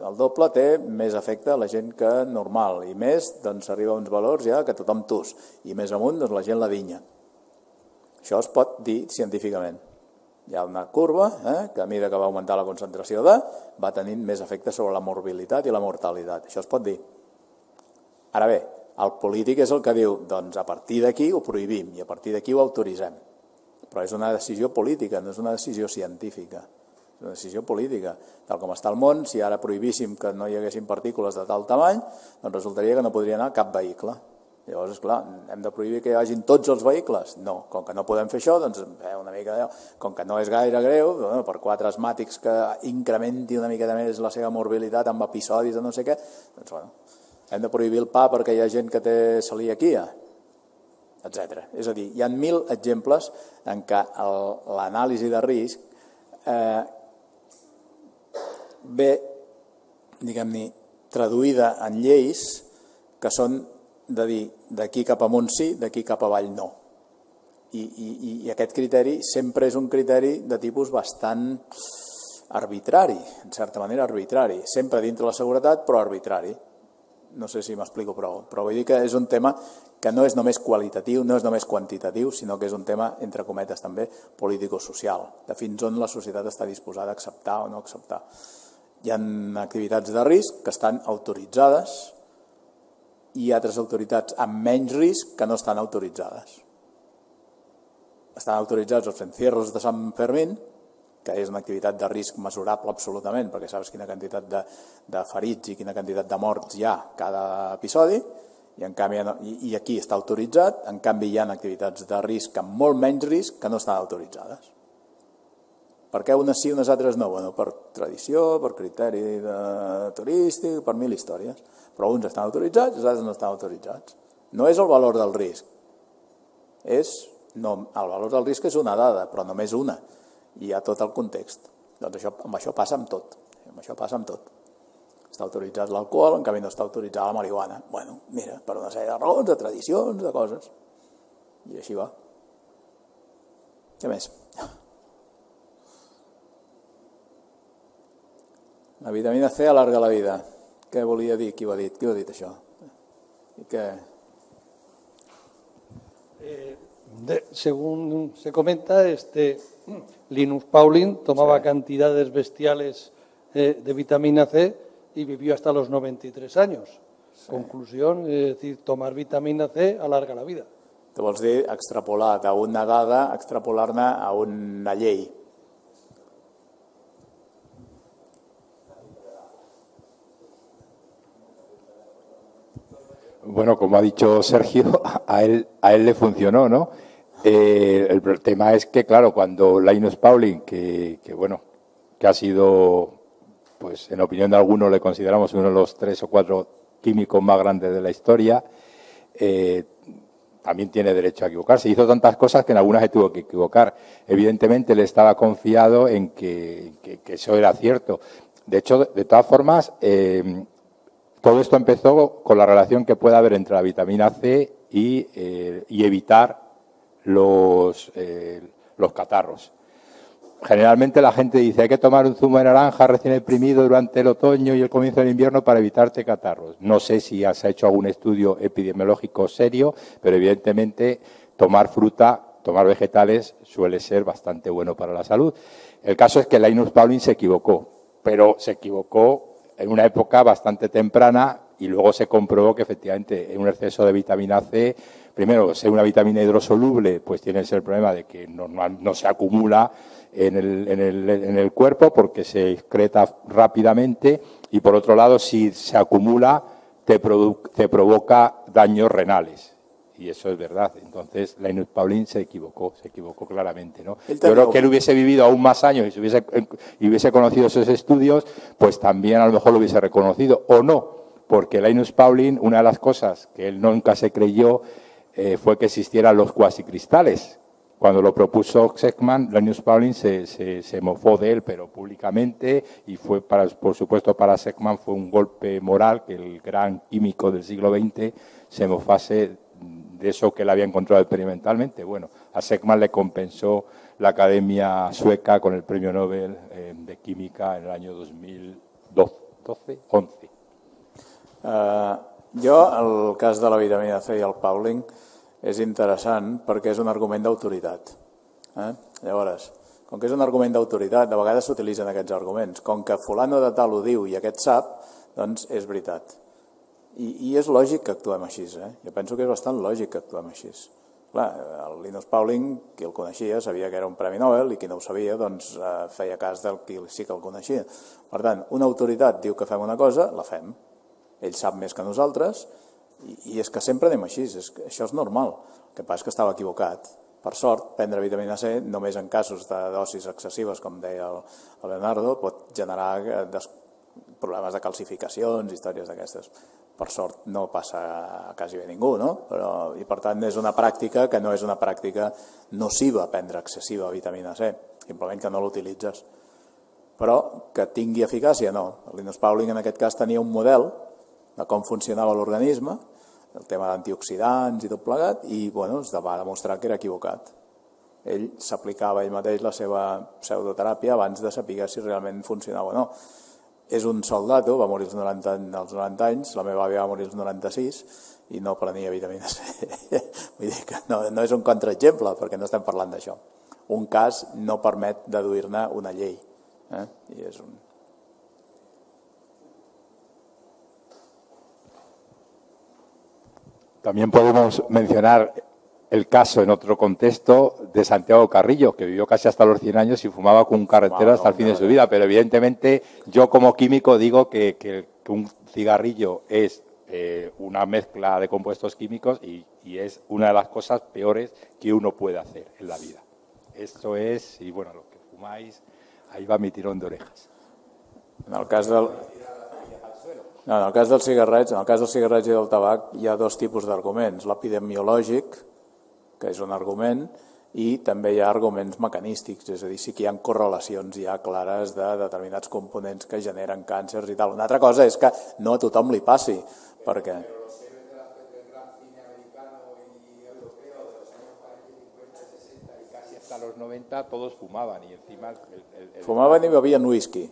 el doble té més efecte a la gent que normal, i més, doncs arriba a uns valors ja que tothom tus, i més amunt, doncs la gent la dinya. Això es pot dir científicament. Hi ha una curva que a mesura que va augmentar la concentració va tenint més efectes sobre la morbilitat i la mortalitat. Això es pot dir. Ara bé, el polític és el que diu, doncs a partir d'aquí ho prohibim i a partir d'aquí ho autoritzem. Però és una decisió política, no és una decisió científica. És una decisió política. Tal com està el món, si ara prohibíssim que no hi haguessin partícules de tal tamany, doncs resultaria que no podria anar cap vehicle. Llavors, esclar, hem de prohibir que hi hagin tots els vehicles? No. Com que no podem fer això, doncs una mica, com que no és gaire greu, per 4 asmàtics que incrementi una mica més la seva morbilitat amb episodis de no sé què, doncs bueno, hem de prohibir el pa perquè hi ha gent que té celiaquia, etc. És a dir, hi ha 1.000 exemples en què l'anàlisi de risc ve, diguem-ne, traduïda en lleis que són de dir d'aquí cap amunt sí, d'aquí cap avall no. I aquest criteri sempre és un criteri de tipus bastant arbitrari, en certa manera arbitrari, sempre dintre la seguretat però arbitrari. No sé si m'explico prou, però vull dir que és un tema que no és només qualitatiu, no és només quantitatiu, sinó que és un tema, entre cometes també, político-social, de fins on la societat està disposada a acceptar o no acceptar. Hi ha activitats de risc que estan autoritzades i altres autoritats amb menys risc que no estan autoritzades. Estan autoritzats els encierros de Sant Fermín, que és una activitat de risc mesurable absolutament, perquè saps quina quantitat de ferits i quina quantitat de morts hi ha cada episodi, i aquí està autoritzat, en canvi hi ha activitats de risc amb molt menys risc que no estan autoritzades. Per què unes sí i unes altres no? Bueno, per tradició, per criteri turístic, per 1.000 històries. Però uns estan autoritzats i els altres no estan autoritzats. No és el valor del risc. El valor del risc és una dada, però només una. I hi ha tot el context. Doncs amb això passa amb tot. Està autoritzat l'alcohol, en canvi no està autoritzada la marihuana. Bueno, mira, per una sèrie de raons, de tradicions, de coses. I així va. Què més? La vitamina C alarga la vida. Què volia dir? Qui ho ha dit? Qui ho ha dit això? I què... Según se comenta, Linus Pauling tomaba cantidades bestiales de vitamina C y vivió hasta los 93 años. Sí. Conclusión, es decir, tomar vitamina C alarga la vida. Te vols dir extrapolar d'una dada, extrapolar-ne a una llei. Bueno, como ha dicho Sergio, a él le funcionó, ¿no? El tema es que, claro, cuando Linus Pauling, que ha sido, pues en opinión de algunos le consideramos uno de los 3 o 4 químicos más grandes de la historia, también tiene derecho a equivocarse. Hizo tantas cosas que en algunas se tuvo que equivocar. Evidentemente le estaba confiado en que eso era cierto. De hecho, de todas formas, todo esto empezó con la relación que puede haber entre la vitamina C y evitar los catarros. Generalmente la gente dice hay que tomar un zumo de naranja recién exprimido durante el otoño y el comienzo del invierno para evitarte catarros. No sé si se ha hecho algún estudio epidemiológico serio, pero evidentemente tomar fruta, tomar vegetales suele ser bastante bueno para la salud. El caso es que Linus Pauling se equivocó, pero se equivocó en una época bastante temprana y luego se comprobó que efectivamente un exceso de vitamina C, primero, ser una vitamina hidrosoluble, pues tienes el problema de que no se acumula en el cuerpo porque se excreta rápidamente, y por otro lado, si se acumula, te provoca daños renales. Y eso es verdad. Entonces, Linus Pauling se equivocó claramente, ¿no? Yo creo que él hubiese vivido aún más años y hubiese conocido esos estudios, pues también a lo mejor lo hubiese reconocido, o no, porque Linus Pauling, una de las cosas que él nunca se creyó fue que existieran los cuasicristales. Cuando lo propuso Sekman, Linus Pauling se mofó de él, pero públicamente, y fue, por supuesto, para Sekman fue un golpe moral que el gran químico del siglo XX se mofase de eso que él había encontrado experimentalmente. Bueno, a Sekman le compensó la Academia Sueca con el Premio Nobel de Química en el año 2011. Jo, el cas de la vitamina C i el Pauling és interessant perquè és un argument d'autoritat. Llavors, com que és un argument d'autoritat, de vegades s'utilitzen aquests arguments. Com que fulano de tal ho diu i aquest sap, doncs és veritat. I és lògic que actuem així. Jo penso que és bastant lògic que actuem així. Clar, el Linus Pauling, qui el coneixia, sabia que era un Premi Nobel, i qui no ho sabia, doncs feia cas del qui sí que el coneixia. Per tant, una autoritat diu que fem una cosa, la fem. Ell sap més que nosaltres, i és que sempre anem així, això és normal. El que passa és que estava equivocat. Per sort, prendre vitamina C, només en casos de dosis excessives, com deia el Leonardo, pot generar problemes de calcificacions, històries d'aquestes. Per sort no passa a quasi bé ningú, no? I per tant és una pràctica que no és una pràctica nociva prendre excessiva vitamina C, simplement que no l'utilitzes. Però que tingui eficàcia, no. El Linus Pauling en aquest cas tenia un model de com funcionava l'organisme, el tema d'antioxidants i tot plegat, i es va demostrar que era equivocat. Ell s'aplicava ell mateix la seva pseudoteràpia abans de saber si realment funcionava o no. És un soldat, va morir als 90 anys, la meva àvia va morir als 96 i no prenia vitamina C. Vull dir que no és un contraexemple, perquè no estem parlant d'això. Un cas no permet deduir-ne una llei. I és un... También podemos mencionar el caso en otro contexto de Santiago Carrillo, que vivió casi hasta los 100 años y fumaba con un carretero hasta el fin de su vida. Pero evidentemente yo como químico digo que un cigarrillo es una mezcla de compuestos químicos y es una de las cosas peores que uno puede hacer en la vida. Esto es, y bueno, los que fumáis, ahí va mi tirón de orejas. En el cas dels cigarrets i del tabac hi ha dos tipus d'arguments. L'epidemiològic, que és un argument, i també hi ha arguments mecanístics, és a dir, sí que hi ha correlacions ja clares de determinats components que generen càncers i tal. Una altra cosa és que no a tothom li passi, perquè... Hasta los 90 todos fumaban y encima... Fumaven i bevien whisky.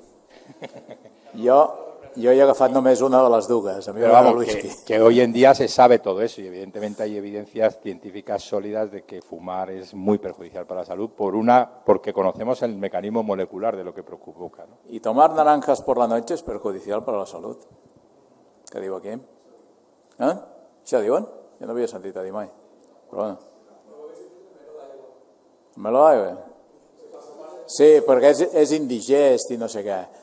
Jo he agafat només una de les dues. Pero vamos, que hoy en día se sabe todo eso y evidentemente hay evidencias científicas sólidas de que fumar es muy perjudicial para la salud porque conocemos el mecanismo molecular de lo que provoca, ¿no? Y tomar naranjas por la noche es perjudicial para la salud. Què diu aquí? Això diuen? Jo no havia sentit a dir mai. Però bueno. Melo d'aigua? Sí, perquè és indigest i no sé què.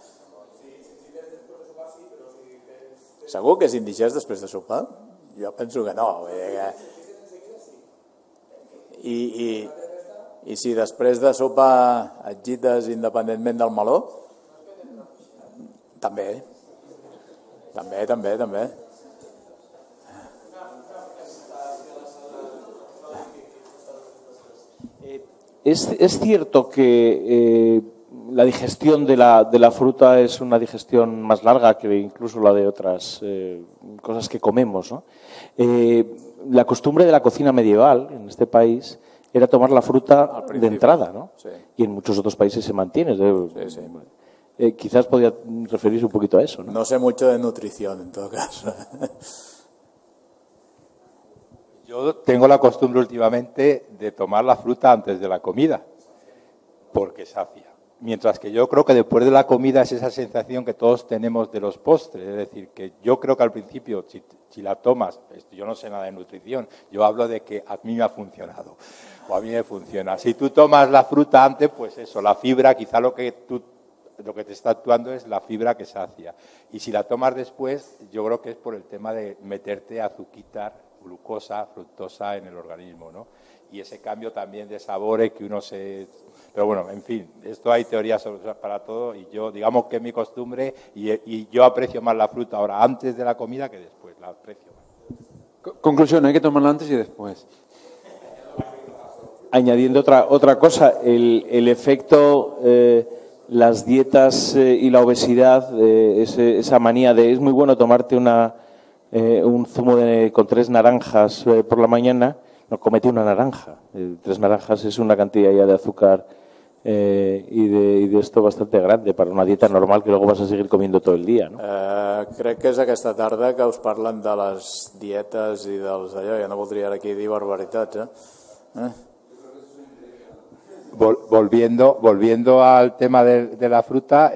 Segur que és indigest després de sopar? Jo penso que no. I si després de sopar et gites independentment del meló? També. També. Es cierto que la digestión de la fruta es una digestión más larga que incluso la de otras cosas que comemos, ¿no? La costumbre de la cocina medieval en este país era tomar la fruta de entrada, ¿no? Sí. Y en muchos otros países se mantiene. Sí. Quizás podría referirse un poquito a eso, ¿no? No sé mucho de nutrición, en todo caso. Yo tengo la costumbre últimamente de tomar la fruta antes de la comida, porque sacia. Mientras que yo creo que después de la comida es esa sensación que todos tenemos de los postres. Es decir, que yo creo que al principio, si la tomas, yo no sé nada de nutrición, yo hablo de que a mí me ha funcionado o a mí me funciona. Si tú tomas la fruta antes, pues eso, la fibra, quizá lo que te está actuando es la fibra que sacia. Y si la tomas después, yo creo que es por el tema de meterte azuquitar, glucosa, fructosa en el organismo, ¿no? Y ese cambio también de sabores que uno se... Pero bueno, en fin, esto hay teorías para todo y yo, digamos que es mi costumbre y yo aprecio más la fruta ahora antes de la comida que después, la aprecio más. Conclusión, hay que tomarla antes y después. Añadiendo otra cosa, el efecto, las dietas y la obesidad, esa manía de es muy bueno tomarte un zumo con 3 naranjas por la mañana. No, comete una naranja. 3 naranjas es una cantidad ya de azúcar y de esto bastante grande para una dieta normal que luego vas a seguir comiendo todo el día, no? Crec que és aquesta tarda que us parlen de les dietes i dels allò. Ja no voldria ara aquí dir barbaritats, Volviendo al tema de la fruta,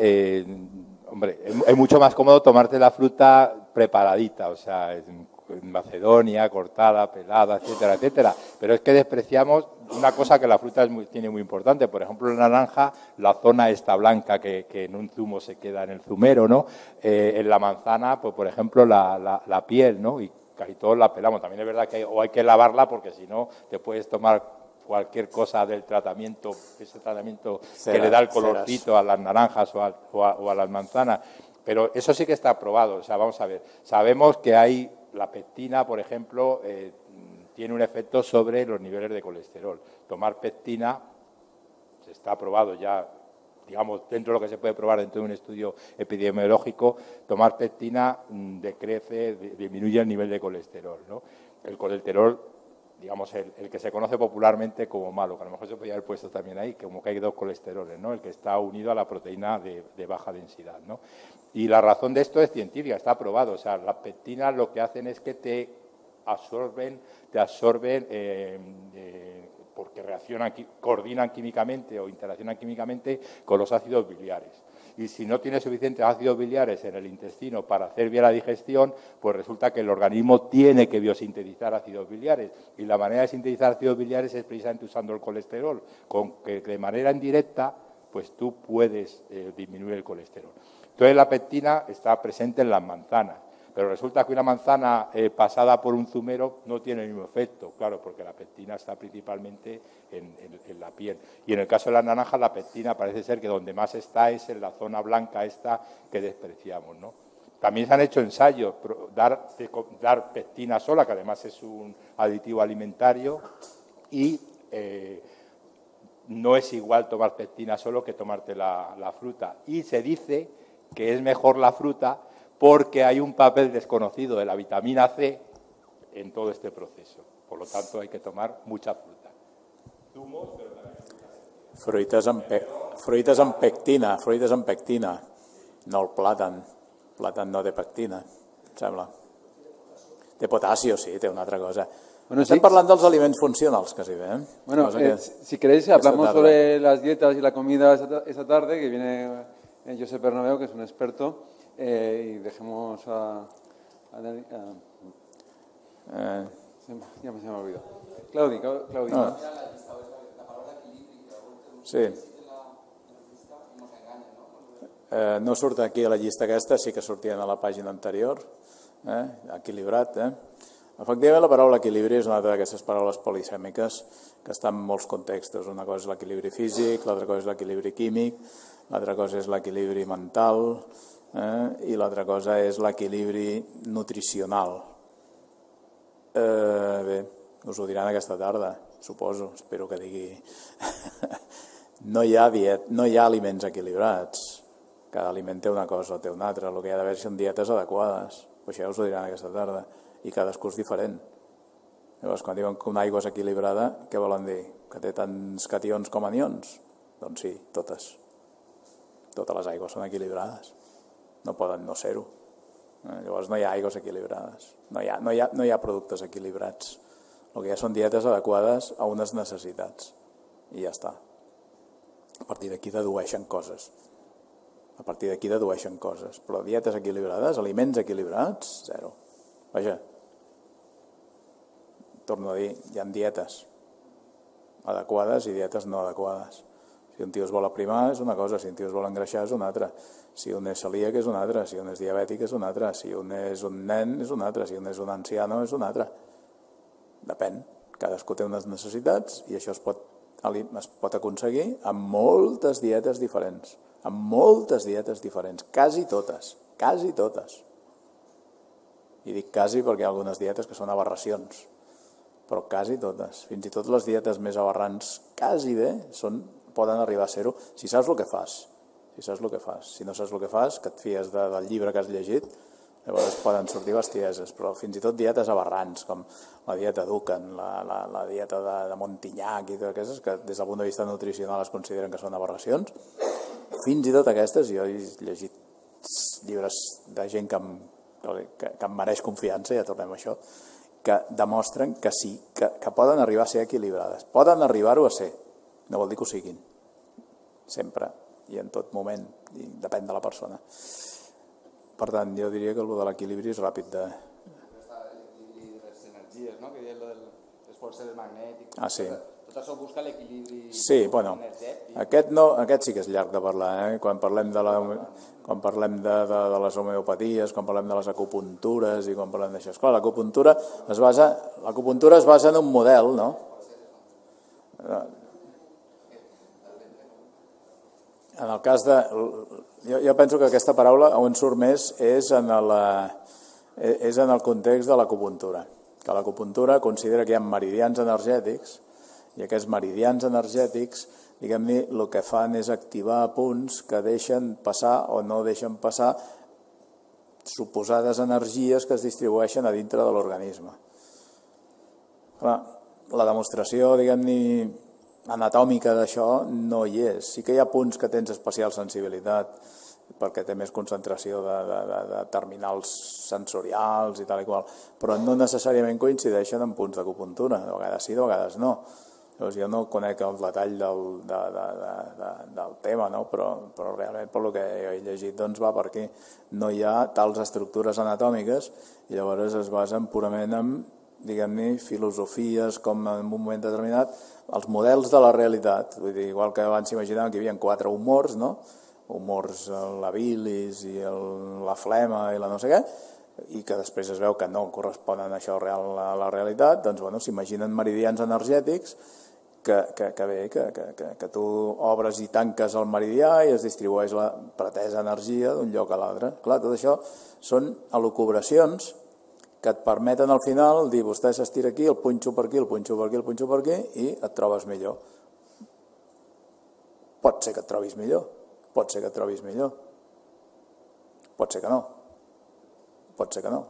hombre, es mucho más cómodo tomarte la fruta preparadita, o sea, en Macedonia, cortada, pelada, etcétera, etcétera. Pero es que despreciamos una cosa que la fruta tiene muy importante. Por ejemplo, la naranja, la zona esta blanca que en un zumo se queda en el zumero, ¿no? En la manzana, pues por ejemplo, la piel, ¿no? Y casi todos la pelamos. También es verdad que hay que lavarla porque si no te puedes tomar cualquier cosa del tratamiento, ese tratamiento que le da el colorcito a las naranjas o a las manzanas. Pero eso sí que está probado. O sea, vamos a ver, sabemos que hay la pectina, por ejemplo, tiene un efecto sobre los niveles de colesterol. Tomar pectina está probado ya, digamos, dentro de lo que se puede probar dentro de un estudio epidemiológico, tomar pectina disminuye el nivel de colesterol, ¿no? El colesterol, digamos, el que se conoce popularmente como malo, que a lo mejor se podría haber puesto también ahí, como que hay 2 colesteroles, ¿no? El que está unido a la proteína de baja densidad, ¿no? Y la razón de esto es científica, está probado. O sea, las pectinas lo que hacen es que te absorben porque coordinan químicamente o interaccionan químicamente con los ácidos biliares. Y si no tienes suficientes ácidos biliares en el intestino para hacer bien la digestión, pues resulta que el organismo tiene que biosintetizar ácidos biliares. Y la manera de sintetizar ácidos biliares es precisamente usando el colesterol, con que de manera indirecta pues tú puedes disminuir el colesterol. Entonces la pectina está presente en las manzanas, pero resulta que una manzana pasada por un zumero no tiene el mismo efecto, claro, porque la pectina está principalmente en la piel. Y en el caso de las naranjas, la pectina parece ser que donde más está es en la zona blanca esta que despreciamos, ¿no? También se han hecho ensayos, dar pectina sola, que además es un aditivo alimentario, y no es igual tomar pectina solo que tomarte la fruta. Y se dice que es mejor la fruta porque hay un papel desconocido de la vitamina C en todo este proceso. Por lo tanto, hay que tomar mucha fruta. Zumos, pero también fruites amb pectina, no el plàtan. El plàtan no té pectina, em sembla. Té potasio, sí, té una altra cosa. Bueno, estem parlant dels aliments funcionals, quasi bé. Bueno, si queréis, hablamos sobre las dietas y la comida esta tarde, que viene Josep Bernabeu, que es un experto, y dejemos a ya me se me ha olvidado. Claudi. No. Sí. No surt aquí a la llista aquesta, sí que sortien a la pàgina anterior, equilibrat. Efectivament, la paraula equilibri és una altra d'aquestes paraules polisèmiques que està en molts contextos. Una cosa és l'equilibri físic, l'altra cosa és l'equilibri químic, l'altra cosa és l'equilibri mental i l'altra cosa és l'equilibri nutricional. Bé, us ho diran aquesta tarda, suposo, espero que digui. No hi ha aliments equilibrats. Cada aliment té una cosa o té una altra. El que hi ha d'haver són dietes adequades. Això us ho diran aquesta tarda. I cadascú és diferent. Llavors, quan diuen que una aigua és equilibrada, què volen dir? Que té tants cations com anions? Doncs sí, totes. Totes les aigües són equilibrades. No poden no ser-ho. Llavors no hi ha aigües equilibrades. No hi ha productes equilibrats. El que hi ha són dietes adequades a unes necessitats. I ja està. A partir d'aquí dedueixen coses. Però dietes equilibrades, aliments equilibrats, zero. Vaja, torno a dir, hi ha dietes adequades i dietes no adequades. Si un tio es vol aprimar és una cosa, si un tio es vol engreixar és una altra. Si un és celíac és una altra, si un és diabètic és una altra, si un és un nen és una altra, si un és un anciano és una altra. Depèn, cadascú té unes necessitats i això es pot aconseguir amb moltes dietes diferents. Quasi totes. I dic quasi perquè hi ha algunes dietes que són aberracions, però quasi totes. Fins i tot les dietes més aberrants, quasi bé, poden arribar a ser-ho si saps el que fas. Si no saps el que fas, que et fies del llibre que has llegit, llavors poden sortir bestieses, però fins i tot dietes aberrants, com la dieta Dukan, la dieta de Montignac i totes aquestes, que des del punt de vista nutricional es consideren que són aberracions, fins i tot aquestes, jo he llegit llibres de gent que em mereix confiança, ja tornem a això, que demostren que sí, que poden arribar a ser equilibrades. Poden arribar-ho a ser, no vol dir que ho siguin, sempre i en tot moment, i depèn de la persona. Per tant, jo diria que el de l'equilibri és ràpid de... L'equilibri de les energies, no? Que deia de les forces magnètiques. Ah, sí. Tot això busca l'equilibri energètic. Aquest sí que és llarg de parlar, quan parlem de les homeopaties, quan parlem de les acupuntures i quan parlem d'això. Esclar, l'acupuntura es basa en un model, no? En el cas de... Jo penso que aquesta paraula on surt més és en el context de l'acupuntura. Que l'acupuntura considera que hi ha meridians energètics i aquests meridians energètics, diguem-ne, el que fan és activar punts que deixen passar o no deixen passar suposades energies que es distribueixen a dintre de l'organisme. La demostració, diguem-ne, anatòmica d'això no hi és. Sí que hi ha punts que tens especial sensibilitat perquè té més concentració de terminals sensorials i tal i qual, però no necessàriament coincideixen en punts d'acupuntura. De vegades sí, de vegades no. Llavors jo no conec el detall del tema, no? Però realment per el que he llegit va per aquí. No hi ha tals estructures anatòmiques i llavors es basen purament en, diguem-ne, filosofies com en un moment determinat, els models de la realitat. Vull dir, igual que abans s'imaginaven que hi havia 4 humors, no? Humors, la bilis i la flema i la no sé què, i que després es veu que no corresponen a això real a la realitat, doncs bueno, s'imaginen meridians energètics que tu obres i tanques el meridià i es distribueix la pretesa energia d'un lloc a l'altre. Clar, tot això són elucubracions que et permeten al final dir vostè s'estira aquí, el punxo per aquí, el punxo per aquí, el punxo per aquí i et trobes millor. Pot ser que et trobis millor, pot ser que et trobis millor, pot ser que no, pot ser que no.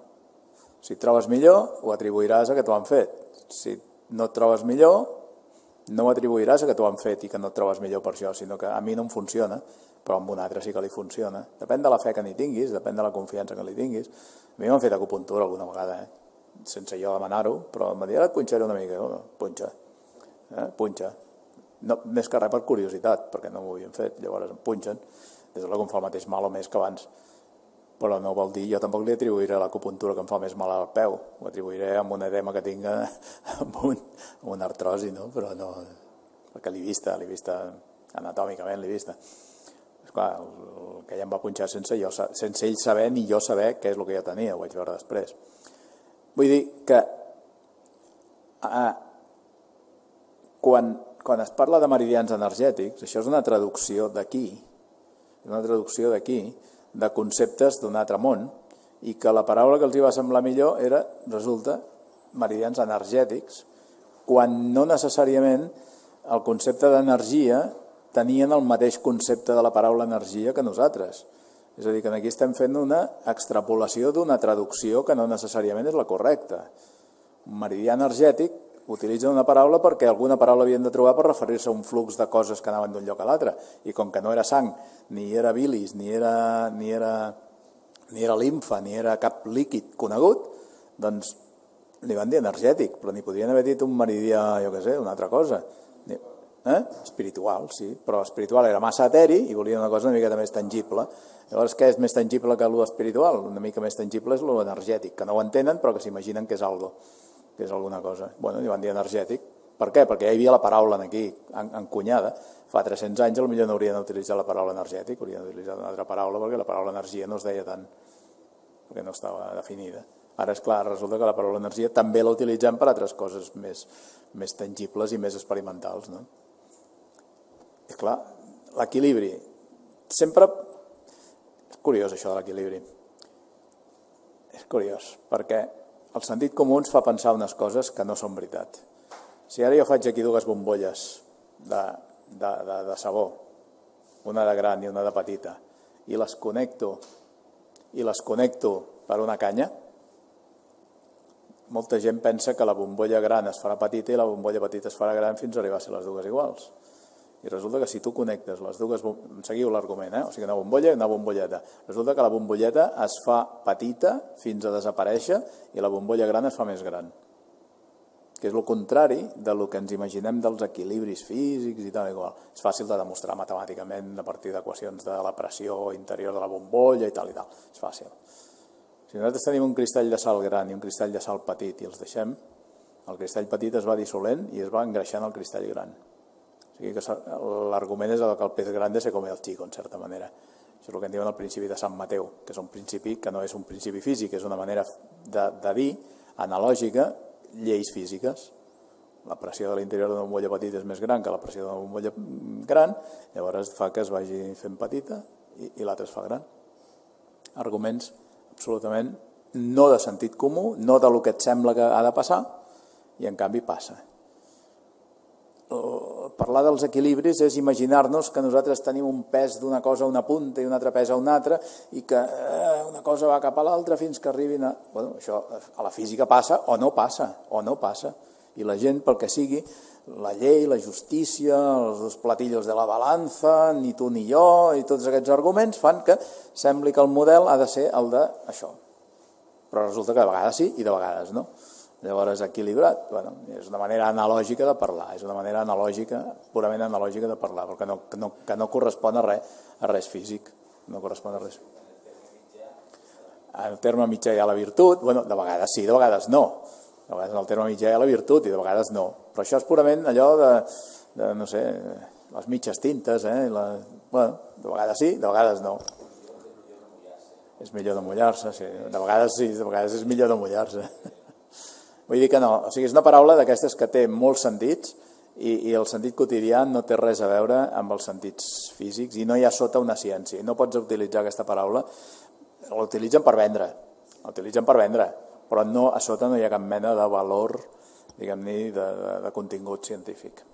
Si et trobes millor, ho atribuiràs a que t'ho han fet. Si no et trobes millor, no ho atribuiràs a que t'ho han fet i que no et trobes millor per això, sinó que a mi no em funciona, però amb un altre sí que li funciona. Depèn de la fe que n'hi tinguis, depèn de la confiança que li tinguis. A mi m'han fet acupuntura alguna vegada, sense jo demanar-ho, però m'ha dit, ara et punxaré una mica. Punxa. Punxa. No, més que res per curiositat, perquè no m'ho havien fet. Llavors em punxen. Des de que em fa el mateix mal o més que abans. Però no vol dir, jo tampoc li atribuiré l'acupuntura que em fa més mal al peu. Ho atribuiré amb un edema que tinc, amb una artrosi, no? Però no... Perquè l'he vista anatòmicament l'he vista. Esclar, el que ella em va punxar sense ell saber ni jo saber què és el que jo tenia, ho vaig veure després. Vull dir que quan es parla de meridians energètics, això és una traducció d'aquí, de conceptes d'un altre món, i que la paraula que els hi va semblar millor era, resulta, meridians energètics, quan no necessàriament el concepte d'energia tenien el mateix concepte de la paraula energia que nosaltres. És a dir, que aquí estem fent una extrapolació d'una traducció que no necessàriament és la correcta. Un meridià energètic utilitza una paraula perquè alguna paraula havien de trobar per referir-se a un flux de coses que anaven d'un lloc a l'altre. I com que no era sang, ni era bilis, ni era limfa, ni era cap líquid conegut, doncs li van dir energètic, però ni podrien haver dit un meridià, jo què sé, una altra cosa. Espiritual, sí, però espiritual era massa eteri i volia una cosa una miqueta més tangible. Llavors, què és més tangible que l'espiritual? Una mica més tangible és l'energètic, que no ho entenen però que s'imaginen que és algo, que és alguna cosa. Bueno, li van dir energètic. Per què? Perquè ja hi havia la paraula aquí, encunyada. Fa 300 anys potser no haurien d'utilitzar la paraula energètic, haurien d'utilitzar una altra paraula perquè la paraula energia no es deia tant, perquè no estava definida. Ara, és clar, resulta que la paraula energia també la utilitzem per altres coses més tangibles i més experimentals, no? És clar, l'equilibri. Sempre... És curiós això de l'equilibri. És curiós, perquè el sentit comú ens fa pensar unes coses que no són veritat. Si ara jo faig aquí dues bombolles de sabó, una de gran i una de petita, i les connecto per una canya, molta gent pensa que la bombolla gran es farà petita i la bombolla petita es farà gran fins a arribar a ser les dues iguals. I resulta que si tu connectes les dues... Seguiu l'argument, o sigui, una bombolla i una bombolleta. Resulta que la bombolleta es fa petita fins a desaparèixer i la bombolla gran es fa més gran. Que és el contrari del que ens imaginem dels equilibris físics i tal i qual. És fàcil de demostrar matemàticament a partir d'equacions de la pressió interior de la bombolla i tal i tal. És fàcil. Si nosaltres tenim un cristall de sal gran i un cristall de sal petit i els deixem, el cristall petit es va dissolent i es va engreixant el cristall gran. O sigui que l'argument és que el pez grande se come el chico, en certa manera. Això és el que en diuen el principi de Sant Mateu, que és un principi que no és un principi físic, és una manera de dir, analògica, lleis físiques. La pressió de l'interior d'una bombolla petita és més gran que la pressió d'una bombolla gran, llavors fa que es vagi fent petita i l'altra es fa gran. Arguments absolutament no de sentit comú, no del que et sembla que ha de passar, i en canvi passa. Parlar dels equilibris és imaginar-nos que nosaltres tenim un pes d'una cosa a una punta i un altre pes a una altra i que una cosa va cap a l'altra fins que arribin a... Bueno, això a la física passa o no passa. I la gent, pel que sigui, la llei, la justícia, els dos platillos de la balança, ni tu ni jo, i tots aquests arguments fan que sembli que el model ha de ser el d'això. Però resulta que de vegades sí i de vegades no. Llavors, equilibrat, bueno, és una manera analògica de parlar, és una manera analògica, purament analògica de parlar, perquè no correspon a res físic, no correspon a res. En el terme mitjà hi ha la virtut, bueno, de vegades sí, de vegades no. De vegades en el terme mitjà hi ha la virtut i de vegades no. Però això és purament allò de no sé, les mitges tintes, bueno, de vegades sí, de vegades no. És millor no mullar-se, sí. De vegades sí, de vegades és millor no mullar-se. Vull dir que no, o sigui, és una paraula d'aquestes que té molts sentits i el sentit quotidià no té res a veure amb els sentits físics i no hi ha sota una ciència. No pots utilitzar aquesta paraula, l'utilitzen per vendre, però no, a sota no hi ha cap mena de valor, diguem-ne, de contingut científic.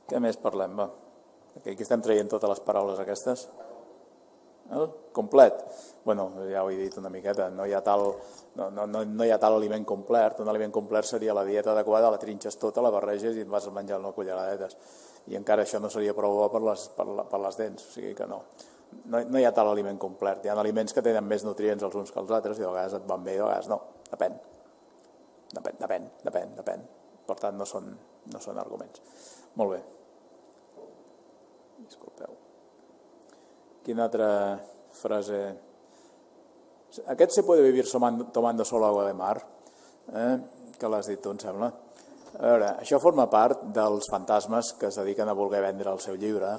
Què més parlem? Va. Aquí estem traient totes les paraules aquestes. Complet. Bueno, ja ho he dit una miqueta, no hi ha tal aliment complet. Un aliment complet seria la dieta adequada, la trinxes tota, la barreges i et vas menjar una culleradetes. I encara això no seria prou bo per les dents, o sigui que no. No hi ha tal aliment complet. Hi ha aliments que tenen més nutrients els uns que els altres i de vegades et van bé i de vegades no. Depèn. Per tant, no són arguments. Molt bé. Disculpeu. Quina altra frase? Aquest se puede vivir tomando solo agua de mar, que l'has dit tu, em sembla. A veure, això forma part dels fantasmes que es dediquen a voler vendre el seu llibre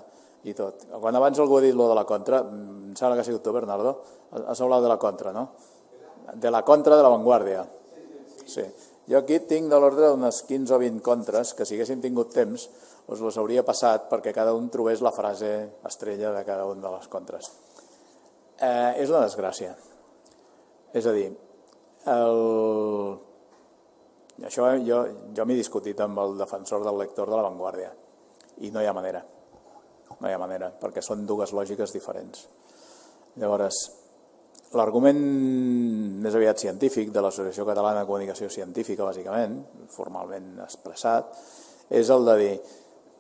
i tot. Quan abans algú ha dit lo de la contra, em sembla que ha sigut tu, Bernardo, has hablat de la contra, no? De la contra de la Vanguardia. Sí. Jo aquí tinc de l'ordre d'unes 15 o 20 contres que si haguéssim tingut temps us les hauria passat perquè cada un trobés la frase estrella de cada un de les contres. És una desgràcia. És a dir, això jo m'he discutit amb el defensor del lector de la Vanguardia i no hi ha manera, perquè són dues lògiques diferents. Llavors, l'argument més aviat científic de l'Associació Catalana de Comunicació Científica, bàsicament, formalment expressat, és el de dir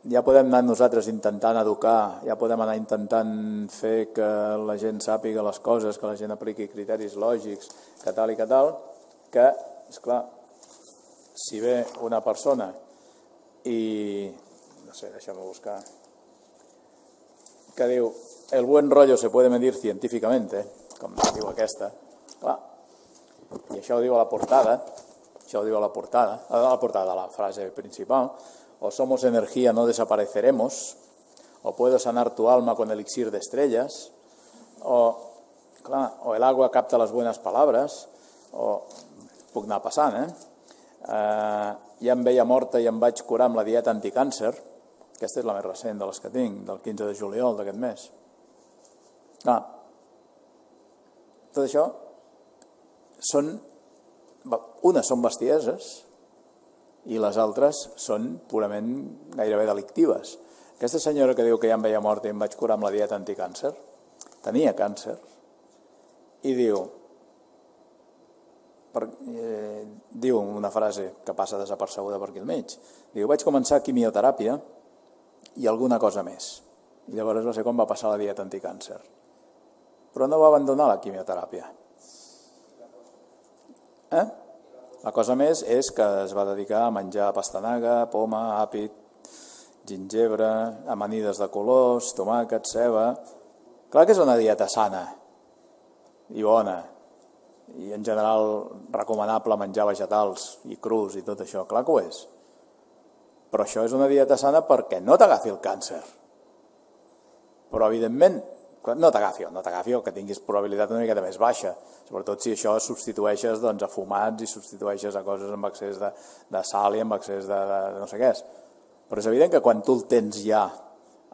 ja podem anar nosaltres intentant educar, ja podem anar intentant fer que la gent sàpiga les coses, que la gent apliqui criteris lògics, que tal, que esclar, si ve una persona i, no sé, deixa'm buscar, que diu, el buen rollo se puede medir científicamente, com diu aquesta, clar, i això ho diu a la portada, de la frase principal, o somos energía, no desapareceremos, o puedo sanar tu alma con elixir de estrellas, o el agua capta las buenas palabras, o puc anar passant, ja em veia morta i em vaig curar amb la dieta anticàncer, aquesta és la més recent de les que tinc, del 15 de juliol d'aquest mes. Tot això unes són bestieses i les altres són purament gairebé delictives. Aquesta senyora que diu que ja em veia morta i em vaig curar amb la dieta anticàncer, tenia càncer, i diu una frase que passa desapercebuda per aquí al mig, diu, vaig començar quimioteràpia i alguna cosa més. I llavors va ser quan va passar la dieta anticàncer. Però no va abandonar la quimioteràpia. La cosa més és que es va dedicar a menjar pastanaga, poma, àpid, gingebre, amanides de colors, tomàquet, ceba... Clar que és una dieta sana i bona, i en general recomanable menjar vegetals i crus i tot això, clar que ho és. Però això és una dieta sana perquè no t'agafi el càncer. Però evidentment, no t'agafi el que tinguis probabilitat una miqueta més baixa, sobretot si això substitueixes a fumats i substitueixes a coses amb excés de sal i amb excés de no sé què és. Però és evident que quan tu el tens ja,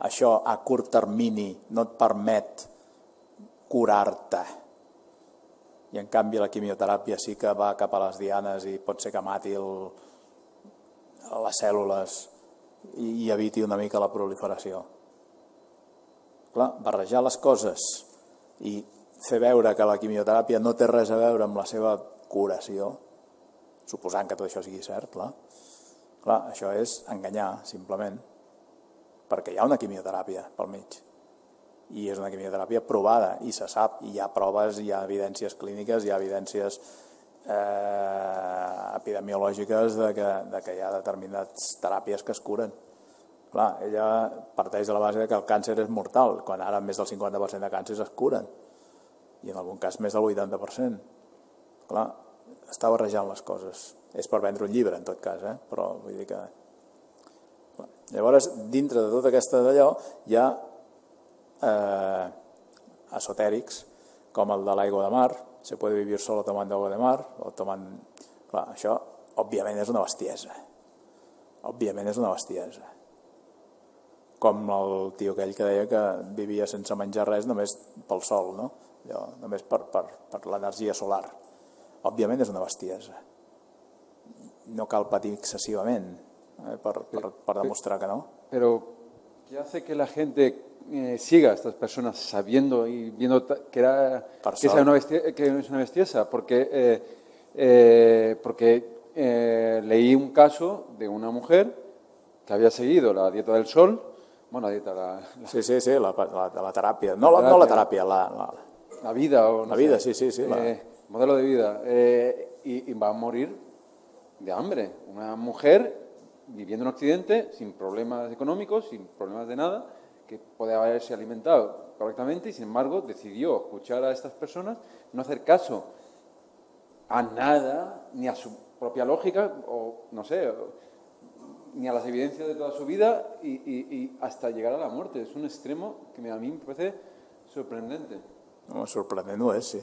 això a curt termini no et permet curar-te. I en canvi la quimioteràpia sí que va cap a les dianes i pot ser que mati les cèl·lules i eviti una mica la proliferació. Clar, barrejar les coses i fer veure que la quimioteràpia no té res a veure amb la seva curació, suposant que tot això sigui cert, clar, això és enganyar, simplement, perquè hi ha una quimioteràpia pel mig. I és una quimioteràpia provada, i se sap, i hi ha proves, hi ha evidències clíniques, hi ha evidències epidemiològiques de que hi ha determinades teràpies que es curen. Clar, ella parteix de la base que el càncer és mortal, quan ara més del 50% de càncers es curen, i en algun cas més del 80%. Clar, està barrejant les coses. És per vendre un llibre, en tot cas, però vull dir que... Llavors, dintre de tota aquesta d'allò, hi ha esotèrics, com el de l'aigua de mar, se puede vivir solo tomando agua de mar, o tomant... Clar, això, òbviament, és una bestiesa. Òbviament és una bestiesa. Com el tio aquell que deia que vivia sense menjar res només pel sol, no? Només per l'energia solar. Òbviament és una bestiesa. No cal patir excessivament per demostrar que no. Pero, ¿qué hace que la gente siga a estas personas sabiendo y viendo que es una bestiesa? Porque leí un caso de una mujer que había seguido la dieta del sol, bueno, la dieta... Sí, la teràpia. No la teràpia, la vida. La vida, sí. Modelo de vida. Y va a morir de hambre. Una mujer viviendo en Occidente, sin problemas económicos, sin problemas de nada, que podía haberse alimentado correctamente y, sin embargo, decidió escuchar a estas personas, no hacer caso a nada, ni a su propia lógica, o no sé, ni a las evidencias de toda su vida y hasta llegar a la muerte. Es un extremo que a mí me parece sorprendente. No, sorprendent ho és, sí.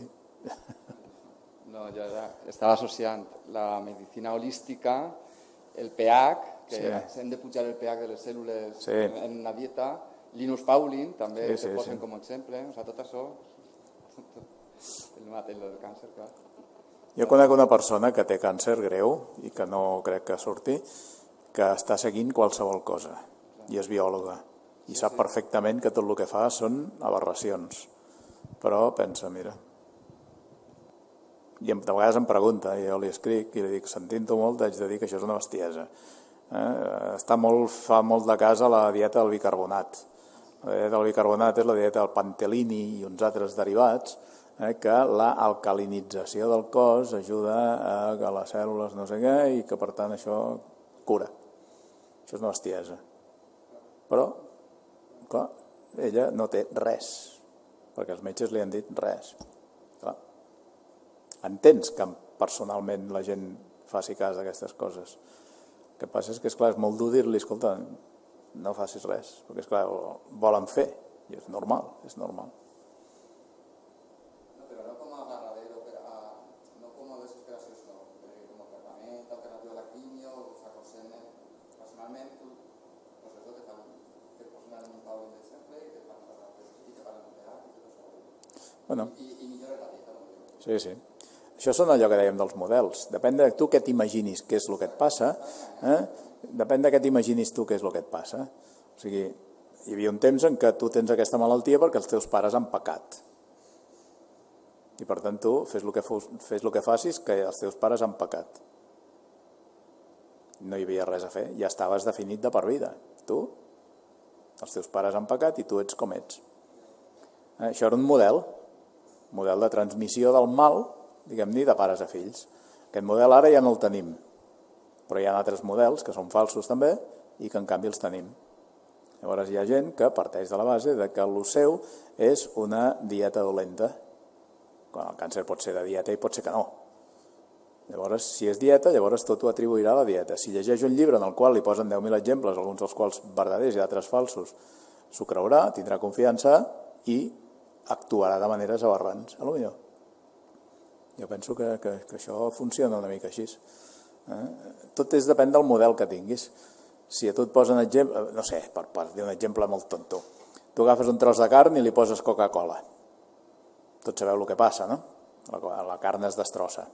No, jo estava associant la medicina holística, el pH, que hem de pujar el pH de les cèl·lules en una dieta, Linus Pauling també se posen com a exemple, o sigui, tot això, el mateix del càncer, clar. Jo conec una persona que té càncer greu i que no crec que surti, que està seguint qualsevol cosa i és biòloga i sap perfectament que tot el que fa són aberracions, però pensa, mira, i de vegades em pregunta, i jo li escric i li dic, sentint-ho molt, haig de dir que això és una bestiesa. Fa molt de cas a la dieta del bicarbonat. La dieta del bicarbonat és la dieta del pantelini i uns altres derivats que l'alcalinització del cos ajuda a que les cèl·lules no sé què i que per tant això cura. Això és una bestiesa. Però, clar, ella no té res, perquè els metges li han dit res. Clar. Entens que personalment la gent faci cas d'aquestes coses. El que passa és que, esclar, és molt dur dir-li, escolta, no facis res, perquè, esclar, volen fer, i és normal, és normal. No, però no com a agarradero, no com a desesperació, sinó com a tractament alternatiu a la quimio, s'arrosseguen personalment, tu, pues això te posen en un taulell d'exemple i te fan un teràpia i tot això. I millores la dieta. Sí, sí. Això són allò que dèiem dels models. Depèn de tu què t'imaginis què és el que et passa, depèn de què t'imaginis tu què és el que et passa. O sigui, hi havia un temps en què tu tens aquesta malaltia perquè els teus pares han pecat. I per tant tu fes el que facis que els teus pares han pecat. No hi havia res a fer, ja estaves definit de per vida. Tu, els teus pares han pecat i tu ets com ets. Això era un model de transmissió del mal, diguem-ne, de pares a fills. Aquest model ara ja no el tenim, però hi ha altres models que són falsos també i que en canvi els tenim. Llavors hi ha gent que parteix de la base de que el seu és una dieta dolenta. Quan el càncer pot ser de dieta i pot ser que no. Llavors, si és dieta, llavors tot ho atribuirà a la dieta. Si llegeix un llibre en el qual li posen 10.000 exemples, alguns dels quals verdaders i altres falsos, s'ho creurà, tindrà confiança i actuarà de maneres aberrants, a lo millor. Jo penso que això funciona una mica així. Tot depèn del model que tinguis. Si a tu et posen exemple, no sé, per dir un exemple molt tonto, tu agafes un tros de carn i li poses Coca-Cola. Tots sabeu el que passa, no? La carn es destrossa.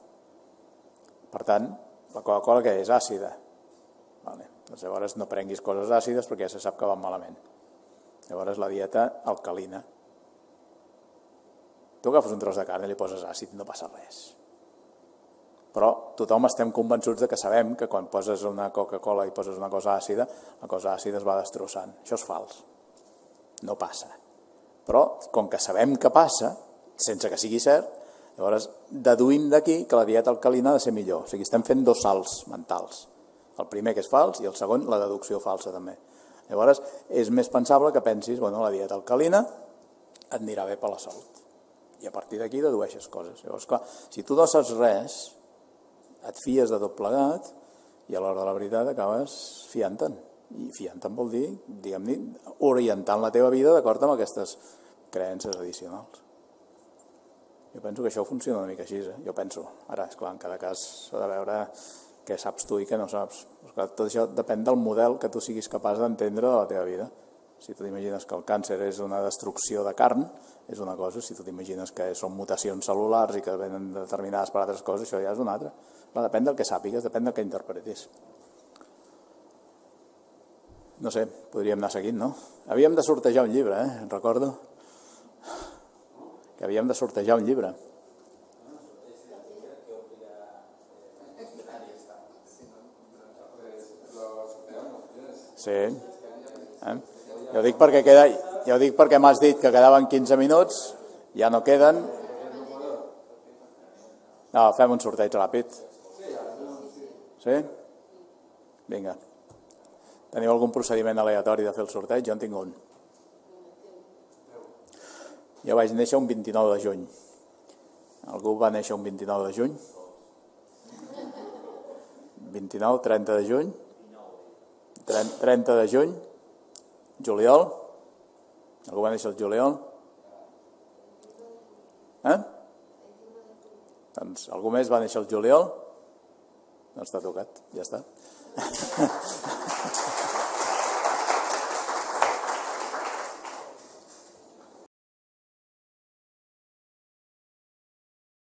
Per tant, la Coca-Cola què és? Àcida. Doncs llavors no prenguis coses àcides perquè ja se sap que van malament. Llavors la dieta alcalina. Tu agafes un tros de carn i li poses àcid, no passa res. Però tothom estem convençuts de que sabem que quan poses una Coca-Cola i poses una cosa àcida, la cosa àcida es va destrossant. Això és fals. No passa. Però, com que sabem que passa, sense que sigui cert, llavors deduïm d'aquí que la dieta alcalina ha de ser millor. O sigui, estem fent dos salts mentals. El primer que és fals i el segon la deducció falsa també. Llavors és més pensable que pensis, bueno, la dieta alcalina et anirà bé per la salut. I a partir d'aquí dedueixes coses. Llavors, clar, si tu no saps res, et fies de tot plegat i a l'hora de la veritat acabes fiant-te'n. I fiant-te'n vol dir, diguem-ne, orientant la teva vida d'acord amb aquestes creences addicionals. Jo penso que això funciona una mica així, jo penso. Ara, esclar, en cada cas s'ha de veure què saps tu i què no saps. Esclar, tot això depèn del model que tu siguis capaç d'entendre de la teva vida. Si tu t'imagines que el càncer és una destrucció de carn, és una cosa. Si tu t'imagines que són mutacions cel·lulars i que venen determinades per altres coses, això ja és una altra. Depèn del que sàpigues, depèn del que interpretis. No sé, podríem anar seguint, no? Havíem de sortejar un llibre, recordo. Que havíem de sortejar un llibre. Sí. Jo dic perquè m'has dit que quedaven 15 minuts, ja no queden. No, fem un sorteig ràpid. Sí? Vinga. Teniu algun procediment aleatori de fer el sorteig? Jo en tinc un. Jo vaig néixer un 29 de juny. Algú va néixer un 29 de juny? 29, 30 de juny? 30 de juny? Juliol? Algú va néixer el juliol? Doncs algú més va néixer el juliol? No està tocat, ja està.